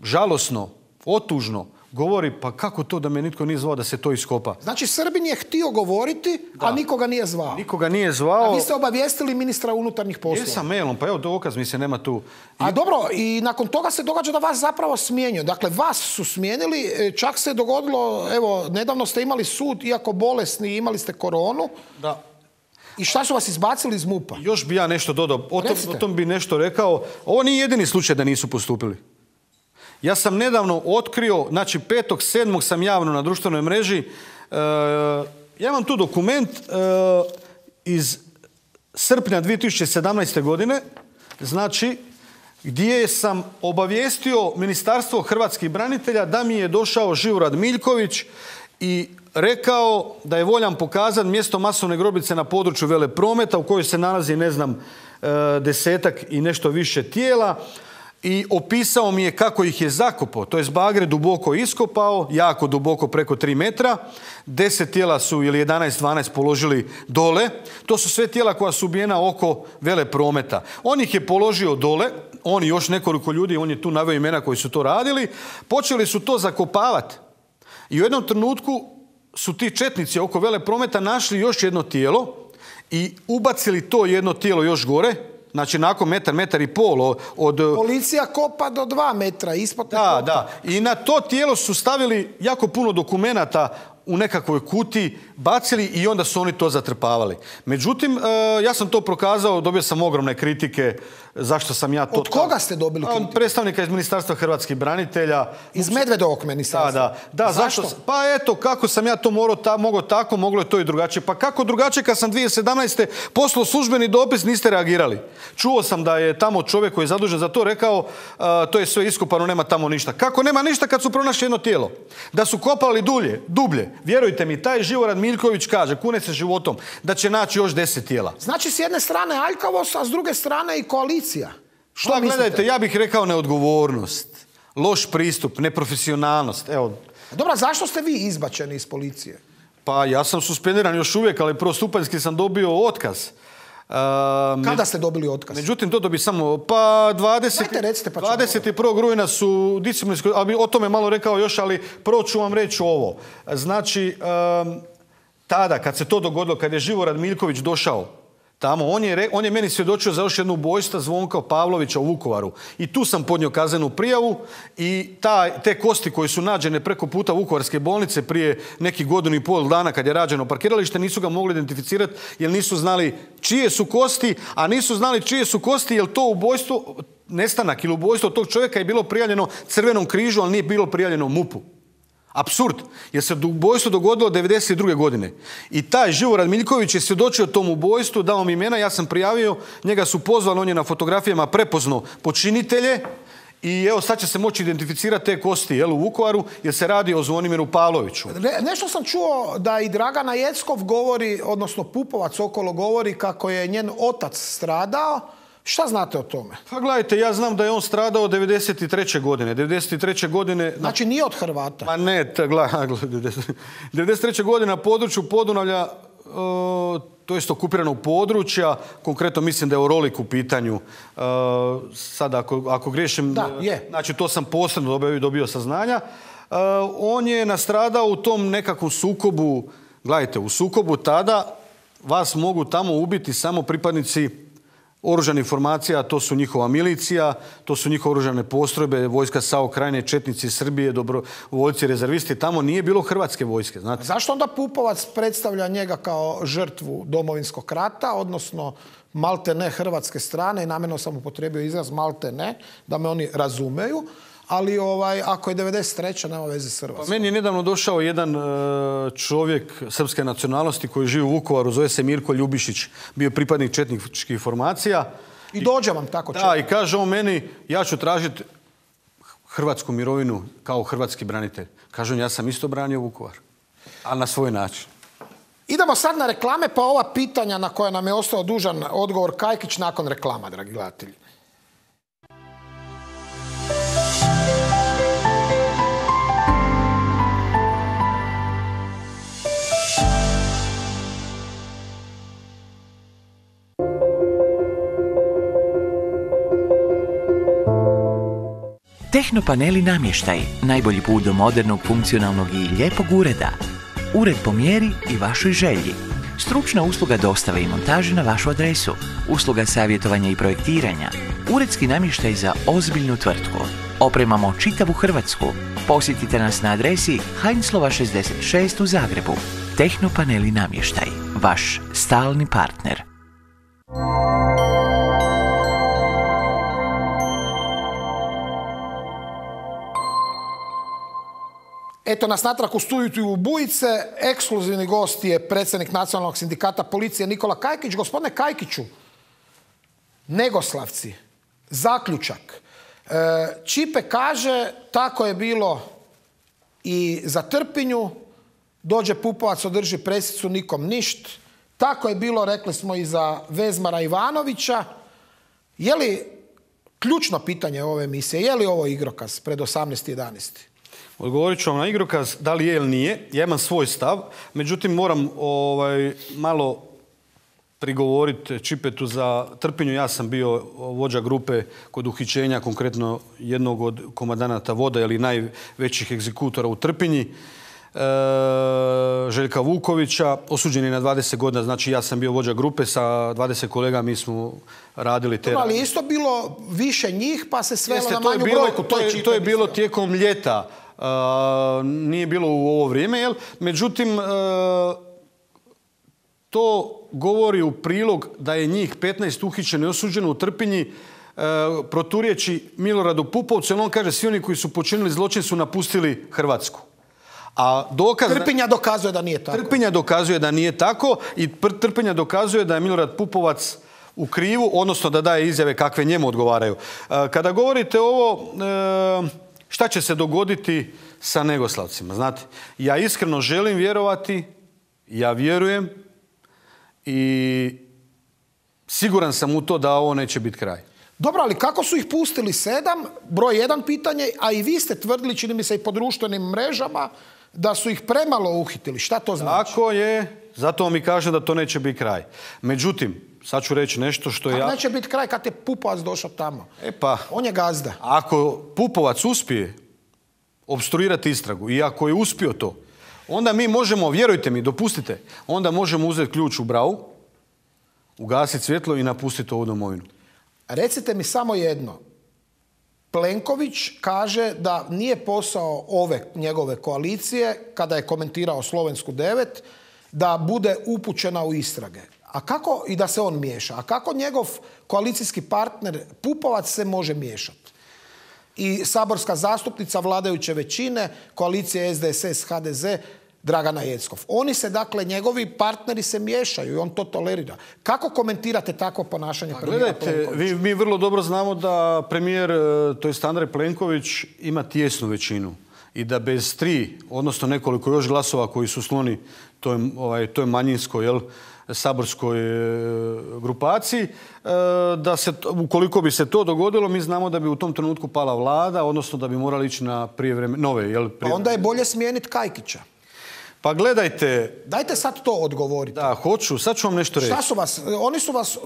žalosno, otužno govori, pa kako to da me nitko nije zvao da se to iskopa? Znači, Srbin je htio govoriti, da, a nikoga nije zvao. Nikoga nije zvao. A vi ste obavijestili ministra unutarnjih poslova. Jesam mailom, pa evo dokaz mi se nema tu. A dobro, i nakon toga se događa da vas zapravo smijenio. Dakle, vas su smijenili, čak se dogodilo, evo, nedavno ste imali sud, iako bolesni, imali ste koronu. Da. I šta su vas izbacili iz MUP-a? Još bi ja nešto dodao, o tom, o tom bi nešto rekao. Ovo nije jedini slučaj da nisu postupili. Ja sam nedavno otkrio, znači petog sedmog sam javno na društvenoj mreži, e, ja imam tu dokument e, iz srpnja dvije tisuće sedamnaeste. godine, znači gdje sam obavijestio Ministarstvo hrvatskih branitelja da mi je došao Živorad Miljković i rekao da je voljan pokazati mjesto masovne grobljice na području Veleprometa u kojoj se nalazi, ne znam, e, desetak i nešto više tijela. I opisao mi je kako ih je zakopao, to je bagre duboko iskopao, jako duboko, preko tri metra. Deset tijela su, ili jedanaest dvanaest, položili dole. To su sve tijela koja su ubijena oko Veleprometa. On ih je položio dole, on i još nekoliko ljudi, on je tu naveo imena koji su to radili. Počeli su to zakopavati. I u jednom trenutku su ti četnici oko Veleprometa našli još jedno tijelo i ubacili to jedno tijelo još gore. Znači, nakon metar, metar i pol od... Policija kopa do dva metra, ispod ne Da, kopa. da. I na to tijelo su stavili jako puno dokumenata u nekakvoj kutiji, bacili i onda su oni to zatrpavali. Međutim, ja sam to prokazao, dobio sam ogromne kritike zašto sam ja to... Od koga ste dobili kritiku? Od predstavnika iz Ministarstva hrvatskih branitelja. Iz Medvedovog ministarstva? Da, da. da zašto? zašto? Pa eto, kako sam ja to morao, ta, mogao tako, moglo je to i drugačije. Pa kako drugačije kad sam dvije tisuće sedamnaeste. poslao službeni dopis, niste reagirali. Čuo sam da je tamo čovjek koji je zadužen za to rekao uh, to je sve iskopano, nema tamo ništa. Kako nema ništa kad su pronašli jedno tijelo? Da su kopali dulje, dublje. Vjerujte mi, taj Živorad Miljković kaže, kune se životom, da će naći još deset tijela. Znači, s jedne strane aljkavost, a s druge strane i koalicija. Što pa, gledajte, ja bih rekao neodgovornost, loš pristup, neprofesionalnost. Evo. Dobro, zašto ste vi izbačeni iz policije? Pa ja sam suspendiran još uvijek, ali prvostupanjski sam dobio otkaz. Uh, Kada me... ste dobili otkaz? Međutim, to dobi samo, pa dvadeset, Dajte, recite, pa dvadeset prvog rujna su disciplinski, ali o tome malo rekao još, ali prvo ću vam reći ovo. Znači, um, tada, kad se to dogodilo, kad je Živorad Miljković došao tamo, on je, on je meni svjedočio za još jednu ubojstva Zvonka Pavlovića u Vukovaru. I tu sam podnio kaznenu prijavu i ta, te kosti koje su nađene preko puta Vukovarske bolnice prije nekih godinu i pol dana kad je rađeno parkiralište, nisu ga mogli identificirati jer nisu znali čije su kosti, a nisu znali čije su kosti jer to ubojstvo, nestanak ili ubojstvo tog čovjeka je bilo prijavljeno Crvenom križu, ali nije bilo prijavljeno MUP-u. Apsurd, jer se ubojstvo dogodilo devedeset druge. godine. I taj Živorad Miljković je svjedočio tom ubojstvu, dao mi imena, ja sam prijavio, njega su pozvali, on je na fotografijama prepoznao počinitelje i evo sad će se moći identificirati te kosti jel, u Vukovaru, jer se radi o Zvonimiru Pavloviću. Ne, nešto sam čuo da i Dragana Jeckov govori, odnosno Pupovac okolo govori kako je njen otac stradao. Šta znate o tome? Pa gledajte, ja znam da je on stradao devedeset treće. godine. devedeset treće. godine... Znači nije od Hrvata? Pa ne, gledaj, devedeset treće. godine na području Podunavlja to jest okupiranog područja, konkretno mislim da je Orolik u pitanju. Sad ako, ako griješim, da, je. Znači to sam posebno dobio, dobio saznanja. On je nastradao u tom nekakvom sukobu, gledajte, u sukobu tada vas mogu tamo ubiti samo pripadnici oružanih formacija, to su njihova milicija, to su njihove oružane postrojbe, vojska SAO Krajine, četnici Srbije, dobrovoljci, rezervisti. Tamo nije bilo hrvatske vojske. Znate. Zašto onda Pupovac predstavlja njega kao žrtvu Domovinskog rata, odnosno malte ne hrvatske strane, i namjerno sam upotrijebio izraz malte ne, da me oni razumeju, ali ovaj, ako je devedeset treća nema veze s Hrvatskom. Pa meni je nedavno došao jedan uh, čovjek srpske nacionalnosti koji živi u Vukovaru, zove se Mirko Ljubišić, bio pripadnik četničkih formacija. I dođe vam tako četnik. Da, i kaže on meni, ja ću tražiti hrvatsku mirovinu kao hrvatski branitelj. Kaže on, ja sam isto branio Vukovar, ali na svoj način. Idemo sad na reklame, pa ova pitanja na koja nam je ostao dužan odgovor Kajkić nakon reklama, dragi gledatelji. Tehnopaneli namještaj, najbolji put do modernog, funkcionalnog i lijepog ureda. Ured po mjeri i vašoj želji. Stručna usluga dostave i montaže na vašu adresu. Usluga savjetovanja i projektiranja. Uredski namještaj za ozbiljnu tvrtku. Opremamo čitavu Hrvatsku. Posjetite nas na adresi Heinzlova šezdeset šest u Zagrebu. Tehnopaneli namještaj, vaš stalni partner. Eto nas natrag u studiju u Bujice. Ekskluzivni gost je predsjednik Nacionalnog sindikata policije Nikola Kajkić. Gospodine Kajkiću, Negoslavci, zaključak. Čipe kaže, tako je bilo i za Trpinju, dođe Pupovac, održi presicu, nikom ništ. Tako je bilo, rekli smo, i za Vezmara Ivanovića. Je li, ključno pitanje ove emisije, je li ovo igrokaz pred osamnaest jedanaest? Odgovorit ću vam na igrokaz, da li je ili nije. Ja imam svoj stav, međutim moram ovaj, malo prigovoriti Čipetu za Trpinju. Ja sam bio vođa grupe kod uhićenja, konkretno jednog od komandanata voda ili najvećih egzekutora u Trpinji, e, Željka Vukovića, osuđen je na dvadeset godina, znači ja sam bio vođa grupe sa dvadeset kolega, mi smo radili te... Ali je isto bilo više njih pa se svelo Jeste, na manju bilo, brojku. To je, to je bilo tijekom ljeta. Uh, nije bilo u ovo vrijeme, jel? Međutim, uh, to govori u prilog da je njih petnaest uhićeno i osuđeno u Trpinji uh, proturječi Miloradu Pupovcu, jer on kaže svi oni koji su počinili zločin su napustili Hrvatsku. A dokaz... Trpinja dokazuje da nije tako. Trpinja dokazuje da nije tako i Trpinja dokazuje da je Milorad Pupovac u krivu, odnosno da daje izjave kakve njemu odgovaraju. Uh, kada govorite ovo... Uh, Šta će se dogoditi sa Negoslavcima? Znate, ja iskreno želim vjerovati, ja vjerujem i siguran sam u to da ovo neće biti kraj. Dobro, ali kako su ih pustili sedam? Broj jedan pitanje, a i vi ste tvrdili, čini mi se i po društvenim mrežama, da su ih premalo uhitili. Šta to znači? Tako je, zato mi kažem da to neće biti kraj. Međutim, sad ću reći nešto što Kako ja... neće biti kraj kad je Pupovac došao tamo? E pa... On je gazda. Ako Pupovac uspije opstruirati istragu i ako je uspio to, onda mi možemo, vjerujte mi, dopustite, onda možemo uzeti ključ u bravu, ugasiti svjetlo i napustiti ovu domovinu. Recite mi samo jedno. Plenković kaže da nije posao ove njegove koalicije, kada je komentirao Slovensku devet, da bude upućena u istrage. A kako, i da se on miješa, a kako njegov koalicijski partner Pupovac se može miješati? I saborska zastupnica vladajuće većine, koalicije S D S S H D Z, Dragana Jeckov. Oni se, dakle, njegovi partneri se miješaju i on to tolerira. Kako komentirate takvo ponašanje premijera Gledajte, Plenkovića? vi, mi vrlo dobro znamo da premijer, to jest Andrej Plenković, ima tijesnu većinu i da bez tri, odnosno nekoliko još glasova koji su sloni toj, ovaj, toj manjinskoj, jel, saborskoj grupaciji, da se, ukoliko bi se to dogodilo, mi znamo da bi u tom trenutku pala vlada, odnosno da bi morali ići na prijevremene, nove, jel? Pa onda je bolje smijeniti Kajkića. Pa gledajte... Dajte sad to odgovoriti. Da, hoću. Sad ću vam nešto reći. Šta su vas... Oni su vas... Uh...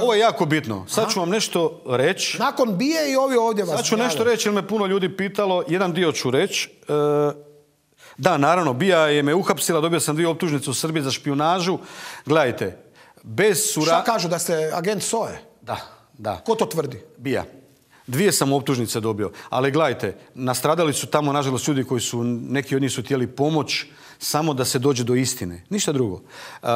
Ovo je jako bitno. Sad Aha. ću vam nešto reći. Nakon bije i ovi ovdje vas... Sad ću nešto reći jer me puno ljudi pitalo. Jedan dio ću reći. Uh, da, naravno, bija je me uhapsila. Dobio sam dvije optužnice u Srbiji za špijunažu. Gledajte, bez sura... Šta kažu, da ste agent S O E? Da, da. Ko to tvrdi? Bija. Dvije sam optužnice dobio. Ali gledajte, nastradali su tamo, nažalost, ljudi koji su, neki od njih su htjeli pomoć samo da se dođe do istine. Ništa drugo. Uh,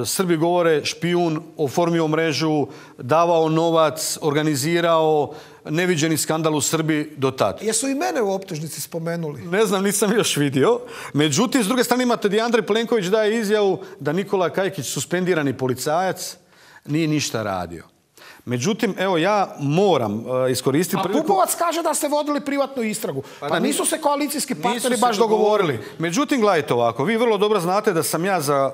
Srbi govore špijun, oformio mrežu, davao novac, organizirao neviđeni skandal u Srbiji do tad. Jesu i mene u optužnici spomenuli? Ne znam, nisam još vidio. Međutim, s druge strane imate da Andrej Plenković daje izjavu da Nikola Kajkić, suspendirani policajac, nije ništa radio. Međutim, evo ja moram uh, iskoristiti A priliku... Pupovac kaže da ste vodili privatnu istragu. Pa, pa nisu se koalicijski partneri baš dogovorili. Međutim, gledajte ovako, vi vrlo dobro znate da sam ja za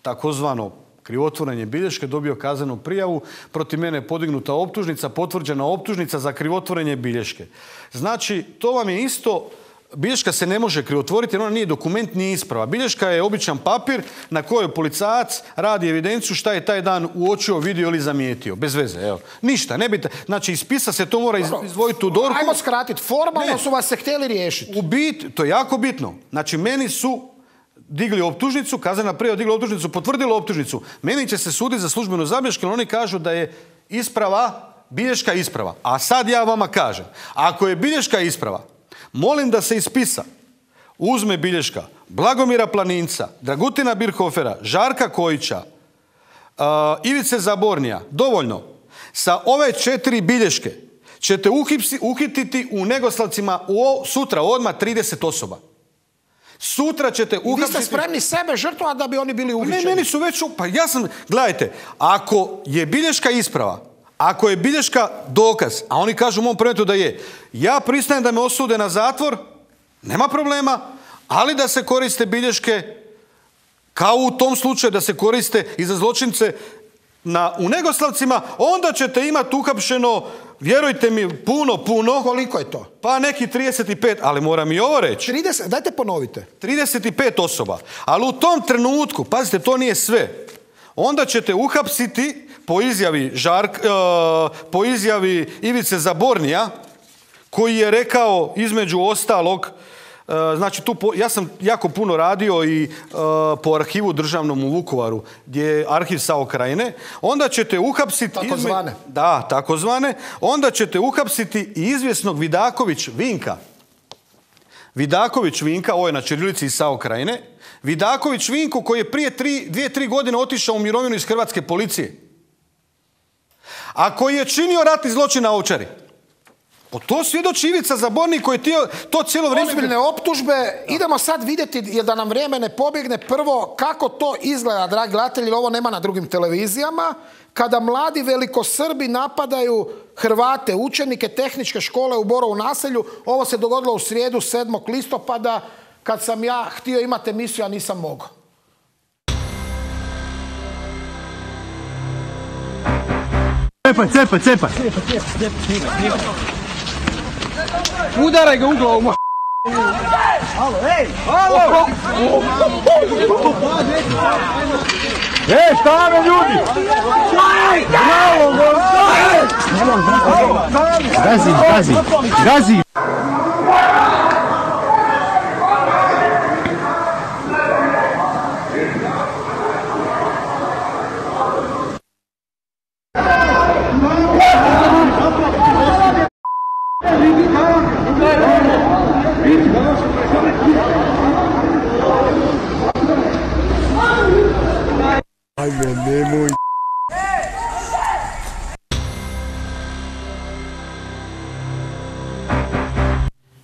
takozvano krivotvorenje bilješke dobio kaznenu prijavu, protiv mene je podignuta optužnica, potvrđena optužnica za krivotvorenje bilješke. Znači, to vam je isto... Bilješka se ne može krivotvoriti jer ona nije dokument, nije isprava. Bilješka je običan papir na kojoj policajac radi evidenciju šta je taj dan uočio, vidio ili zamijetio. Bez veze, evo. Ništa, ne bite. Znači, iz spisa se to mora izdvojiti u dorku. Ajmo skratiti. Formalno ne. Su vas se htjeli riješiti. U bit, to je jako bitno. Znači, meni su digli optužnicu, kaznena prijava digla optužnicu, potvrdila optužnicu. Meni će se suditi za službenu zabilješku, jer oni kažu da je isprava, bilješka isprava. A sad ja vama kažem, ako je bilješka isprava, molim da se iz spisa uzme bilješka Blagomira Planinca, Dragutina Birhofera, Žarka Kojića, uh, Ivice Zabornija, dovoljno. Sa ove četiri bilješke ćete uhipsi, uhititi u Negoslavcima u, sutra odmah trideset osoba. Sutra ćete uhapsiti... Vi ste spremni sebe žrtvovati da bi oni bili uhićeni? Ne, meni su već... Pa ja sam... Gledajte, ako je bilješka isprava, ako je bilješka dokaz, a oni kažu u mom predmetu da je, ja pristajem da me osude na zatvor, nema problema, ali da se koriste bilješke kao u tom slučaju da se koriste i za zločince na, u Negoslavcima, onda ćete imati uhapšeno, vjerujte mi, puno, puno. Koliko je to? Pa neki trideset pet, ali moram i ovo reći. trideset, dajte ponovite. trideset pet osoba. Ali u tom trenutku, pazite, to nije sve. Onda ćete uhapsiti po izjavi, Žark, uh, po izjavi Ivice Zabornija, koji je rekao između ostalog, uh, znači tu po, ja sam jako puno radio i uh, po arhivu državnom u Vukovaru, gdje je arhiv S A O Krajine, onda ćete uhapsiti... Takozvane. Izme, da, takozvane. Onda ćete uhapsiti i izvjesnog Vidaković Vinka. Vidaković Vinka, ovo je na ćirilici iz S A O Krajine, Vidaković Vinko koji je prije tri, dvije, tri godine otišao u mirovinu iz hrvatske policije. A koji je činio ratni zločin na Ovčari. Po to svjedoči Ivica Zabornik koji je to cijelo vrijeme... Ozbiljne optužbe. Da. Idemo sad vidjeti, jer da nam vrijeme ne pobjegne, prvo kako to izgleda, dragi gledatelji, ovo nema na drugim televizijama, kada mladi velikosrbi napadaju Hrvate, učenike tehničke škole u Borovu naselju. Ovo se dogodilo u srijedu sedmog listopada, kad sam ja htio imati emisiju, a nisam mogao. Cepaj, cepaj, cepaj. Udaraj ga u glavu, mo... Halo, ej! Halo! Ej, šta me ljudi? Bravo, bravo! Gazi, gazi, gazi! Ajme, nemoj.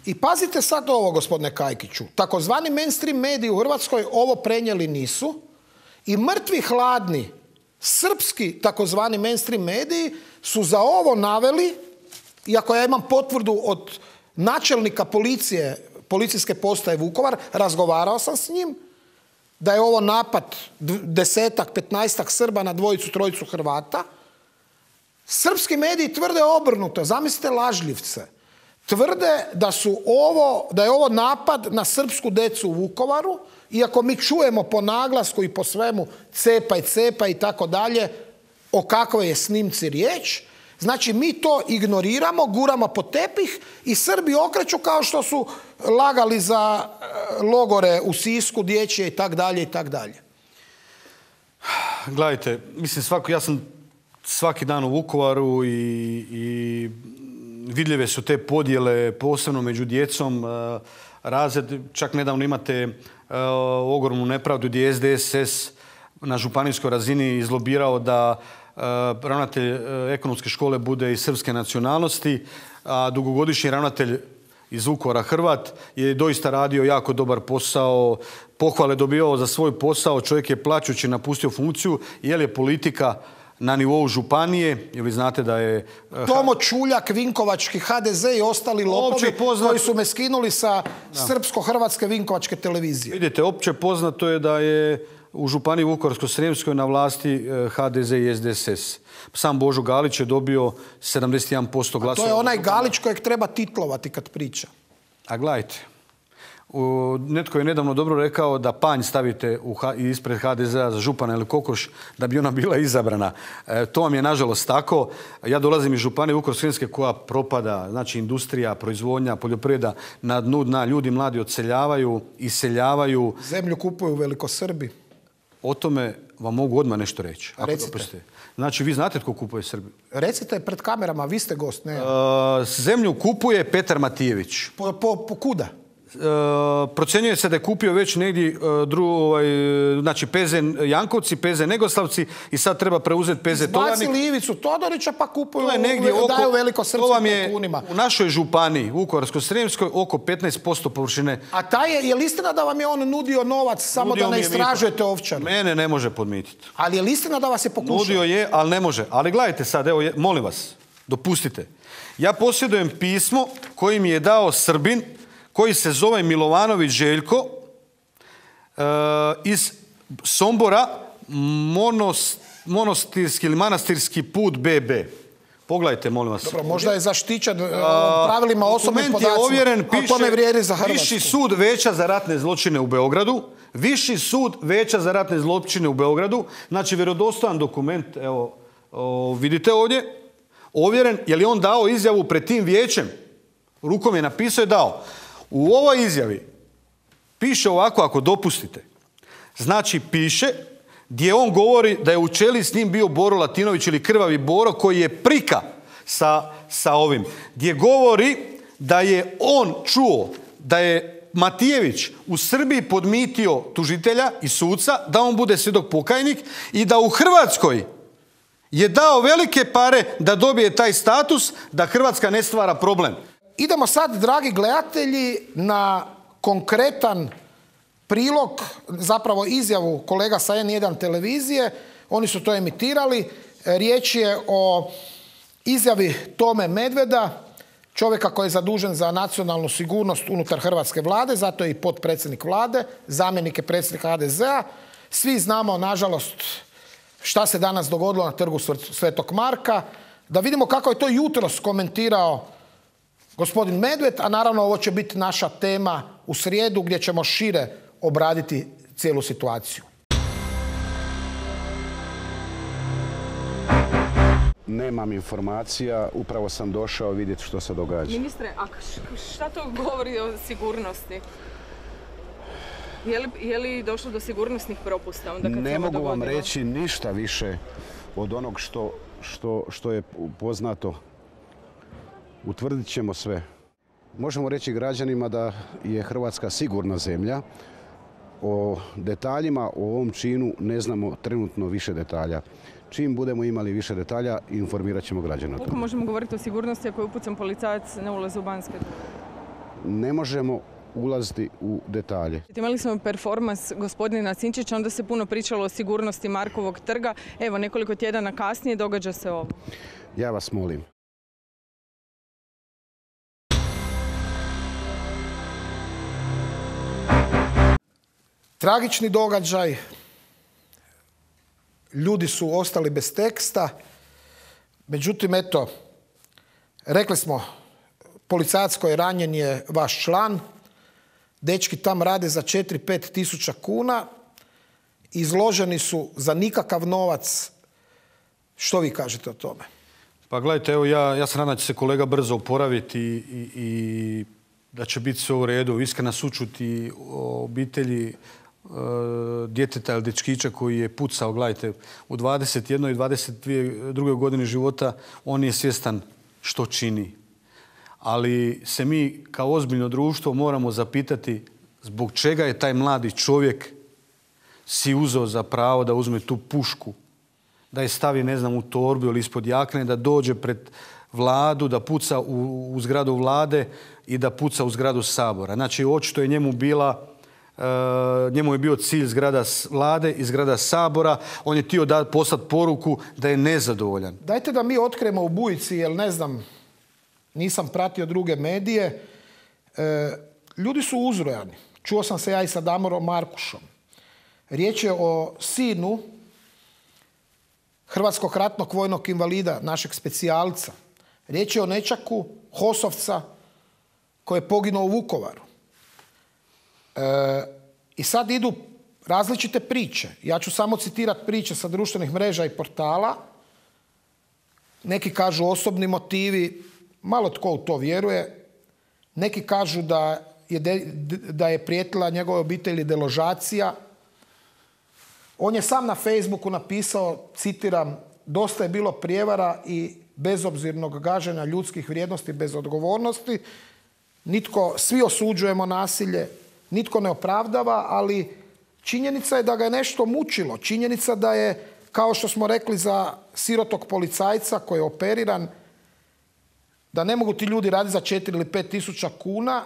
I pazite sad ovo, gospodine Kajkiću. Takozvani mainstream mediji u Hrvatskoj ovo prenijeli nisu i mrtvi hladni srpski takozvani mainstream mediji su za ovo naveli, iako ja imam potvrdu od načelnika policije, policijske postaje Vukovar, razgovarao sam s njim, da je ovo napad desetak, petnaestak Srba na dvojicu, trojicu Hrvata. Srpski mediji tvrde obrnuto, zamislite lažljivce. Tvrde da su ovo, da je ovo napad na srpsku decu u Vukovaru iako mi čujemo po naglasku i po svemu cepaj, cepaj i tako dalje, o kakvoj je snimci riječ, znači mi to ignoriramo, guramo po tepih i Srbi okreću kao što su lagali za logore u Sisku, dječje i tak dalje i tak dalje. Gledajte, mislim, svako, ja sam svaki dan u Vukovaru i, i vidljive su te podjele, posebno među djecom, razred, čak nedavno imate ogromnu nepravdu gdje je S D S S na županijskoj razini izlobirao da ravnatelj ekonomske škole bude iz srpske nacionalnosti, a dugogodišnji ravnatelj iz Vukovara Hrvat je doista radio jako dobar posao, pohvale dobivao za svoj posao, čovjek je plačući napustio funkciju, jer je politika na nivou županije, jer vi znate da je... Tomo Čuljak, Vinkovački H D Z i ostali lopovi poznat... koji su me skinuli sa srpsko-hrvatske Vinkovačke televizije. Vidite, opće poznato je da je u županiji Vukovarsko-srijemskoj na vlasti H D Z i S D S S. Sam Božo Galić je dobio sedamdeset jedan posto glasova. A to je onaj Galić kojeg treba titlovati kad priča. A gledajte, netko je nedavno dobro rekao da panj stavite u, ispred H D Z-a za župana ili kokoš da bi ona bila izabrana. E, to vam je nažalost tako. Ja dolazim iz županije Vukovarsko-srijemske koja propada, znači industrija, proizvodnja, poljoprivreda na dnu dna. Ljudi mladi odseljavaju, iseljavaju. Zemlju kupuju Velikosrbi. O tome vam mogu odmah nešto reći. Recite. Znači, vi znate tko kupuje Srbiju? Recite pred kamerama, vi ste gost, ne? E, zemlju kupuje Petar Matijević. Po, po, po kuda? E, procjenjuje se da je kupio već negdje e, dru, ovaj, znači P Z Jankovci, P Z Negoslavci i sad treba preuzeti P Z Tovarnik. Izbacili Ivicu Todorića pa kupuju, oko, daju velikosrpskim tajkunima. U našoj županiji, Vukovarsko-srijemskoj, oko petnaest posto površine. A taj je, je li istina da vam je on nudio novac samo nudio da ne istražujete Ovčaru? Mene ne može podmititi. Ali je li istina da vas je pokušao? Nudio je, ali ne može. Ali gledajte sad, evo, molim vas, dopustite. Ja posjedujem pismo koji mi je dao Srbin koji se zove Milovanović Željko e, iz Sombora, monos, monostirski ili manastirski put B B. Pogledajte, molim vas. Dobro, možda je zaštićen pravilima osobnih podacima, je ovjeren, piše, ali to ne vrijedi za Hrvatsku. Viši sud Veća za ratne zločine u Beogradu, Viši sud Veća za ratne zločine u Beogradu, znači vjerodostojan dokument, evo, o, vidite ovdje, ovjeren, je li on dao izjavu pred tim vijećem? Rukom je napisao i dao. U ovoj izjavi piše ovako, ako dopustite. Znači, piše gdje on govori da je u čeli s njim bio Boro Latinović ili Krvavi Boro koji je prika sa, sa ovim. Gdje govori da je on čuo da je Matijević u Srbiji podmitio tužitelja i suca da on bude svjedok pokajnik i da u Hrvatskoj je dao velike pare da dobije taj status, da Hrvatska ne stvara problem. Idemo sad, dragi gledatelji, na konkretan prilog, zapravo izjavu kolega sa N jedan televizije. Oni su to emitirali. Riječ je o izjavi Tome Medveda, čovjeka koji je zadužen za nacionalnu sigurnost unutar hrvatske vlade, zato je i potpredsjednik vlade, zamjenik je predsjednika H D Z-a. Svi znamo, nažalost, šta se danas dogodilo na trgu Svetog Marka. Da vidimo kako je to jutros komentirao gospodin Medved, a naravno ovo će biti naša tema u srijedu gdje ćemo šire obraditi cijelu situaciju. Nemam informacija, upravo sam došao vidjeti što se događa. Ministre, a šta to govori o sigurnosti? Je li, je li došlo do sigurnosnih propusta onda kad ne se ovo mogu dogodilo? vam reći ništa više od onog što, što, što je poznato. Utvrdit ćemo sve. Možemo reći građanima da je Hrvatska sigurna zemlja. O detaljima, o ovom činu ne znamo trenutno više detalja. Čim budemo imali više detalja, informirat ćemo građana. Koliko možemo govoriti o sigurnosti ako je upucan policajac na ulazu u Banske? Ne možemo ulaziti u detalje. Imali smo performans gospodina Sinčića, onda se puno pričalo o sigurnosti Markovog trga. Evo, nekoliko tjedana kasnije događa se ovo. Ja vas molim. Tragični događaj. Ljudi su ostali bez teksta. Međutim, eto, rekli smo, policajac koji je ranjen je vaš član. dečki tam rade za četiri do pet tisuća kuna, izloženi su za nikakav novac. Što vi kažete o tome? Pa gledajte, evo ja, ja se nadam da će se kolega brzo oporaviti i, i, i da će biti sve u redu. Iskrena sućut i obitelji e, djeteta ili dečkića koji je pucao, gledajte, u dvadeset jednoj i dvadeset drugoj godini života on je svjestan što čini. Ali se mi kao ozbiljno društvo moramo zapitati zbog čega je taj mladi čovjek si uzeo za pravo da uzme tu pušku, da je stavi, ne znam, u torbu ili ispod jakne, da dođe pred vladu, da puca u, u zgradu vlade i da puca u zgradu Sabora. Znači, očito je njemu bila, e, njemu je bio cilj zgrada vlade i zgrada Sabora. On je htio da poslati poruku da je nezadovoljan. Dajte da mi otkrijemo u Bujici, jer ne znam, nisam pratio druge medije. E, ljudi su uzrojani. Čuo sam se ja i sa Damorom Markušom. Riječ je o sinu hrvatskog ratnog vojnog invalida, našeg specijalca. Riječ je o nečaku Hosovca koji je poginuo u Vukovaru. E, I sad idu različite priče. Ja ću samo citirati priče sa društvenih mreža i portala. Neki kažu osobni motivi, malo tko u to vjeruje. Neki kažu da je, de, da je prijetila njegove obitelji deložacija. On je sam na Facebooku napisao, citiram, dosta je bilo prijevara i bezobzirnog gaženja ljudskih vrijednosti bez odgovornosti. Nitko, svi osuđujemo nasilje, nitko ne opravdava, ali činjenica je da ga je nešto mučilo. Činjenica da je, kao što smo rekli za sirotog policajca koji je operiran, da ne mogu ti ljudi raditi za četiri ili pet tisuća kuna,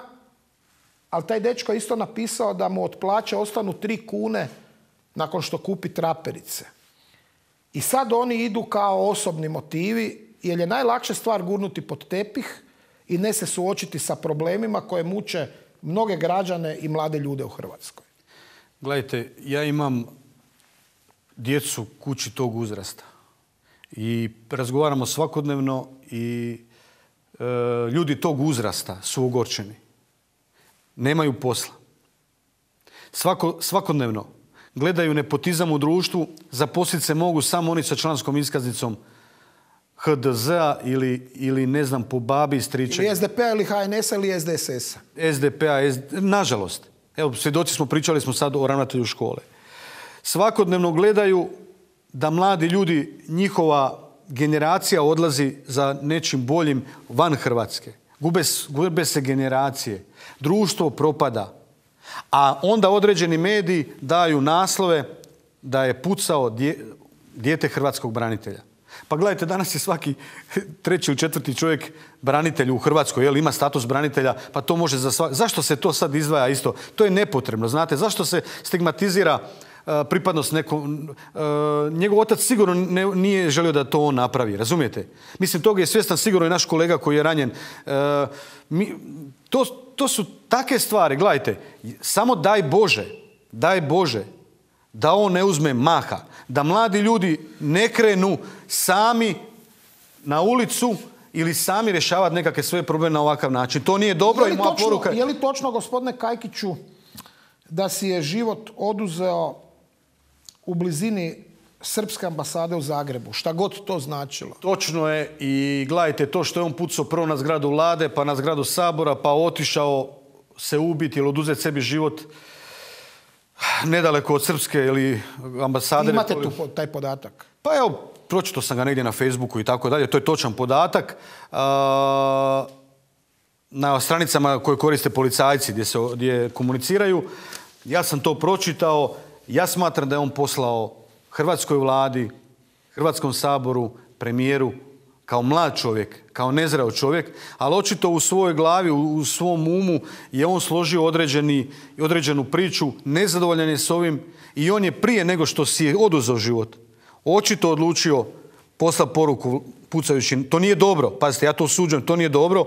ali taj dečko je isto napisao da mu od plaće ostanu tri kune nakon što kupi traperice. I sad oni idu kao osobni motivi, jer je najlakše stvar gurnuti pod tepih i ne se suočiti sa problemima koje muče mnoge građane i mlade ljude u Hrvatskoj. Gledajte, ja imam djecu kući tog uzrasta i razgovaramo svakodnevno i e, ljudi tog uzrasta su ogorčeni. Nemaju posla. Svako, svakodnevno gledaju nepotizam u društvu, zaposliti se mogu samo oni sa članskom iskaznicom H D Z-a ili, ili ne znam, po babi i striča. Ili S D P-a ili H N S-a ili S D S S-a. S D P-a, nažalost. Evo, svjedoci smo, pričali smo sad o ravnatelju škole. Svakodnevno gledaju da mladi ljudi, njihova generacija odlazi za nečim boljim van Hrvatske. Gube, gube se generacije. Društvo propada. A onda određeni mediji daju naslove da je pucao dje, dijete hrvatskog branitelja. Pa gledajte, danas je svaki treći ili četvrti čovjek branitelj u Hrvatskoj, jel, ima status branitelja, pa to može za svak... Zašto se to sad izdvaja isto? To je nepotrebno, znate. Zašto se stigmatizira uh, pripadnost nekom... Uh, njegov otac sigurno ne, nije želio da to on napravi, razumijete? Mislim, toga je svjestan sigurno i naš kolega koji je ranjen. Uh, mi, to, to su takve stvari, gledajte, samo daj Bože, daj Bože da on ne uzme maha, da mladi ljudi ne krenu sami na ulicu ili sami rješavati nekakve svoje probleme na ovakav način. To nije dobro i moja poruka... Je li točno, gospodine Kajkiću, da si je život oduzeo u blizini Srpske ambasade u Zagrebu? Šta god to značilo. Točno je i gledajte, to što je on pucao prvo na zgradu vlade, pa na zgradu Sabora, pa otišao se ubiti ili oduzeti sebi život nedaleko od Srpske ili ambasade. Imate tu taj podatak? Pa evo, pročitao sam ga negdje na Facebooku i tako dalje. To je točan podatak. Na stranicama koje koriste policajci gdje, se, gdje komuniciraju, ja sam to pročitao. Ja smatram da je on poslao hrvatskoj vladi, Hrvatskom saboru, premijeru, kao mlad čovjek, kao nezreo čovjek, ali očito u svojoj glavi, u svom umu je on složio određeni, određenu priču, nezadovoljan je s ovim i on je prije nego što si je oduzeo život, očito odlučio poslati poruku pucajući. To nije dobro, pazite, ja to osuđujem, to nije dobro,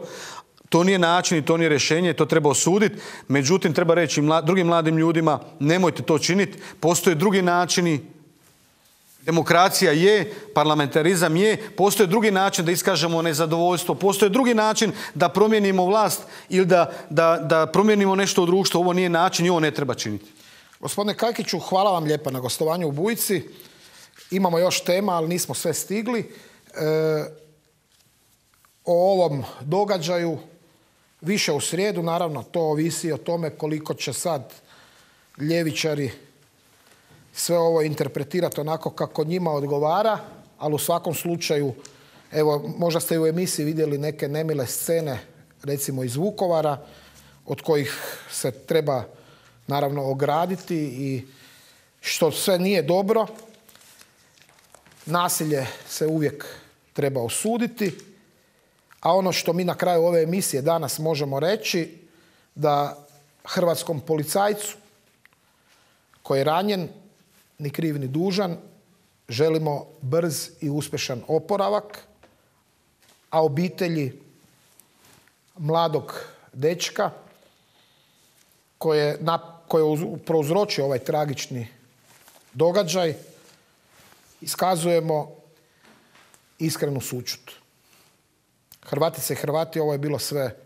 to nije način i to nije rješenje, to treba osuditi. Međutim, treba reći mla, drugim mladim ljudima, nemojte to činiti, postoje drugi načini Demokracija je, parlamentarizam je, postoji drugi način da iskažemo nezadovoljstvo, postoji drugi način da promijenimo vlast ili da, da, da promijenimo nešto u društvu. Ovo nije način i ovo ne treba činiti. Gospodine Kajkiću, hvala vam lijepa na gostovanju u Bujici. Imamo još tema, ali nismo sve stigli. E, o ovom događaju više u srijedu, naravno to ovisi o tome koliko će sad ljevičari sve ovo interpretirati onako kako njima odgovara, ali u svakom slučaju, evo, možda ste u emisiji vidjeli neke nemile scene, recimo iz Vukovara, od kojih se treba naravno ograditi i što sve nije dobro. Nasilje se uvijek treba osuditi, a ono što mi na kraju ove emisije danas možemo reći, da hrvatskom policajcu koji je ranjen, ni kriv ni dužan, želimo brz i uspješan oporavak, a obitelji mladog dečka koji je, koji je prouzročio ovaj tragični događaj, iskazujemo iskrenu sućut. Hrvatice i Hrvati, ovo je bilo sve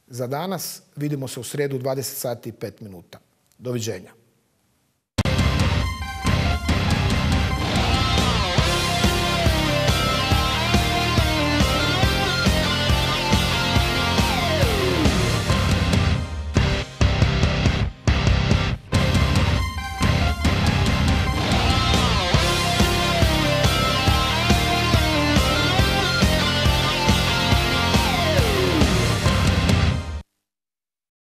za danas. Vidimo se u srijedu u dvadeset sati i pet minuta. Doviđenja.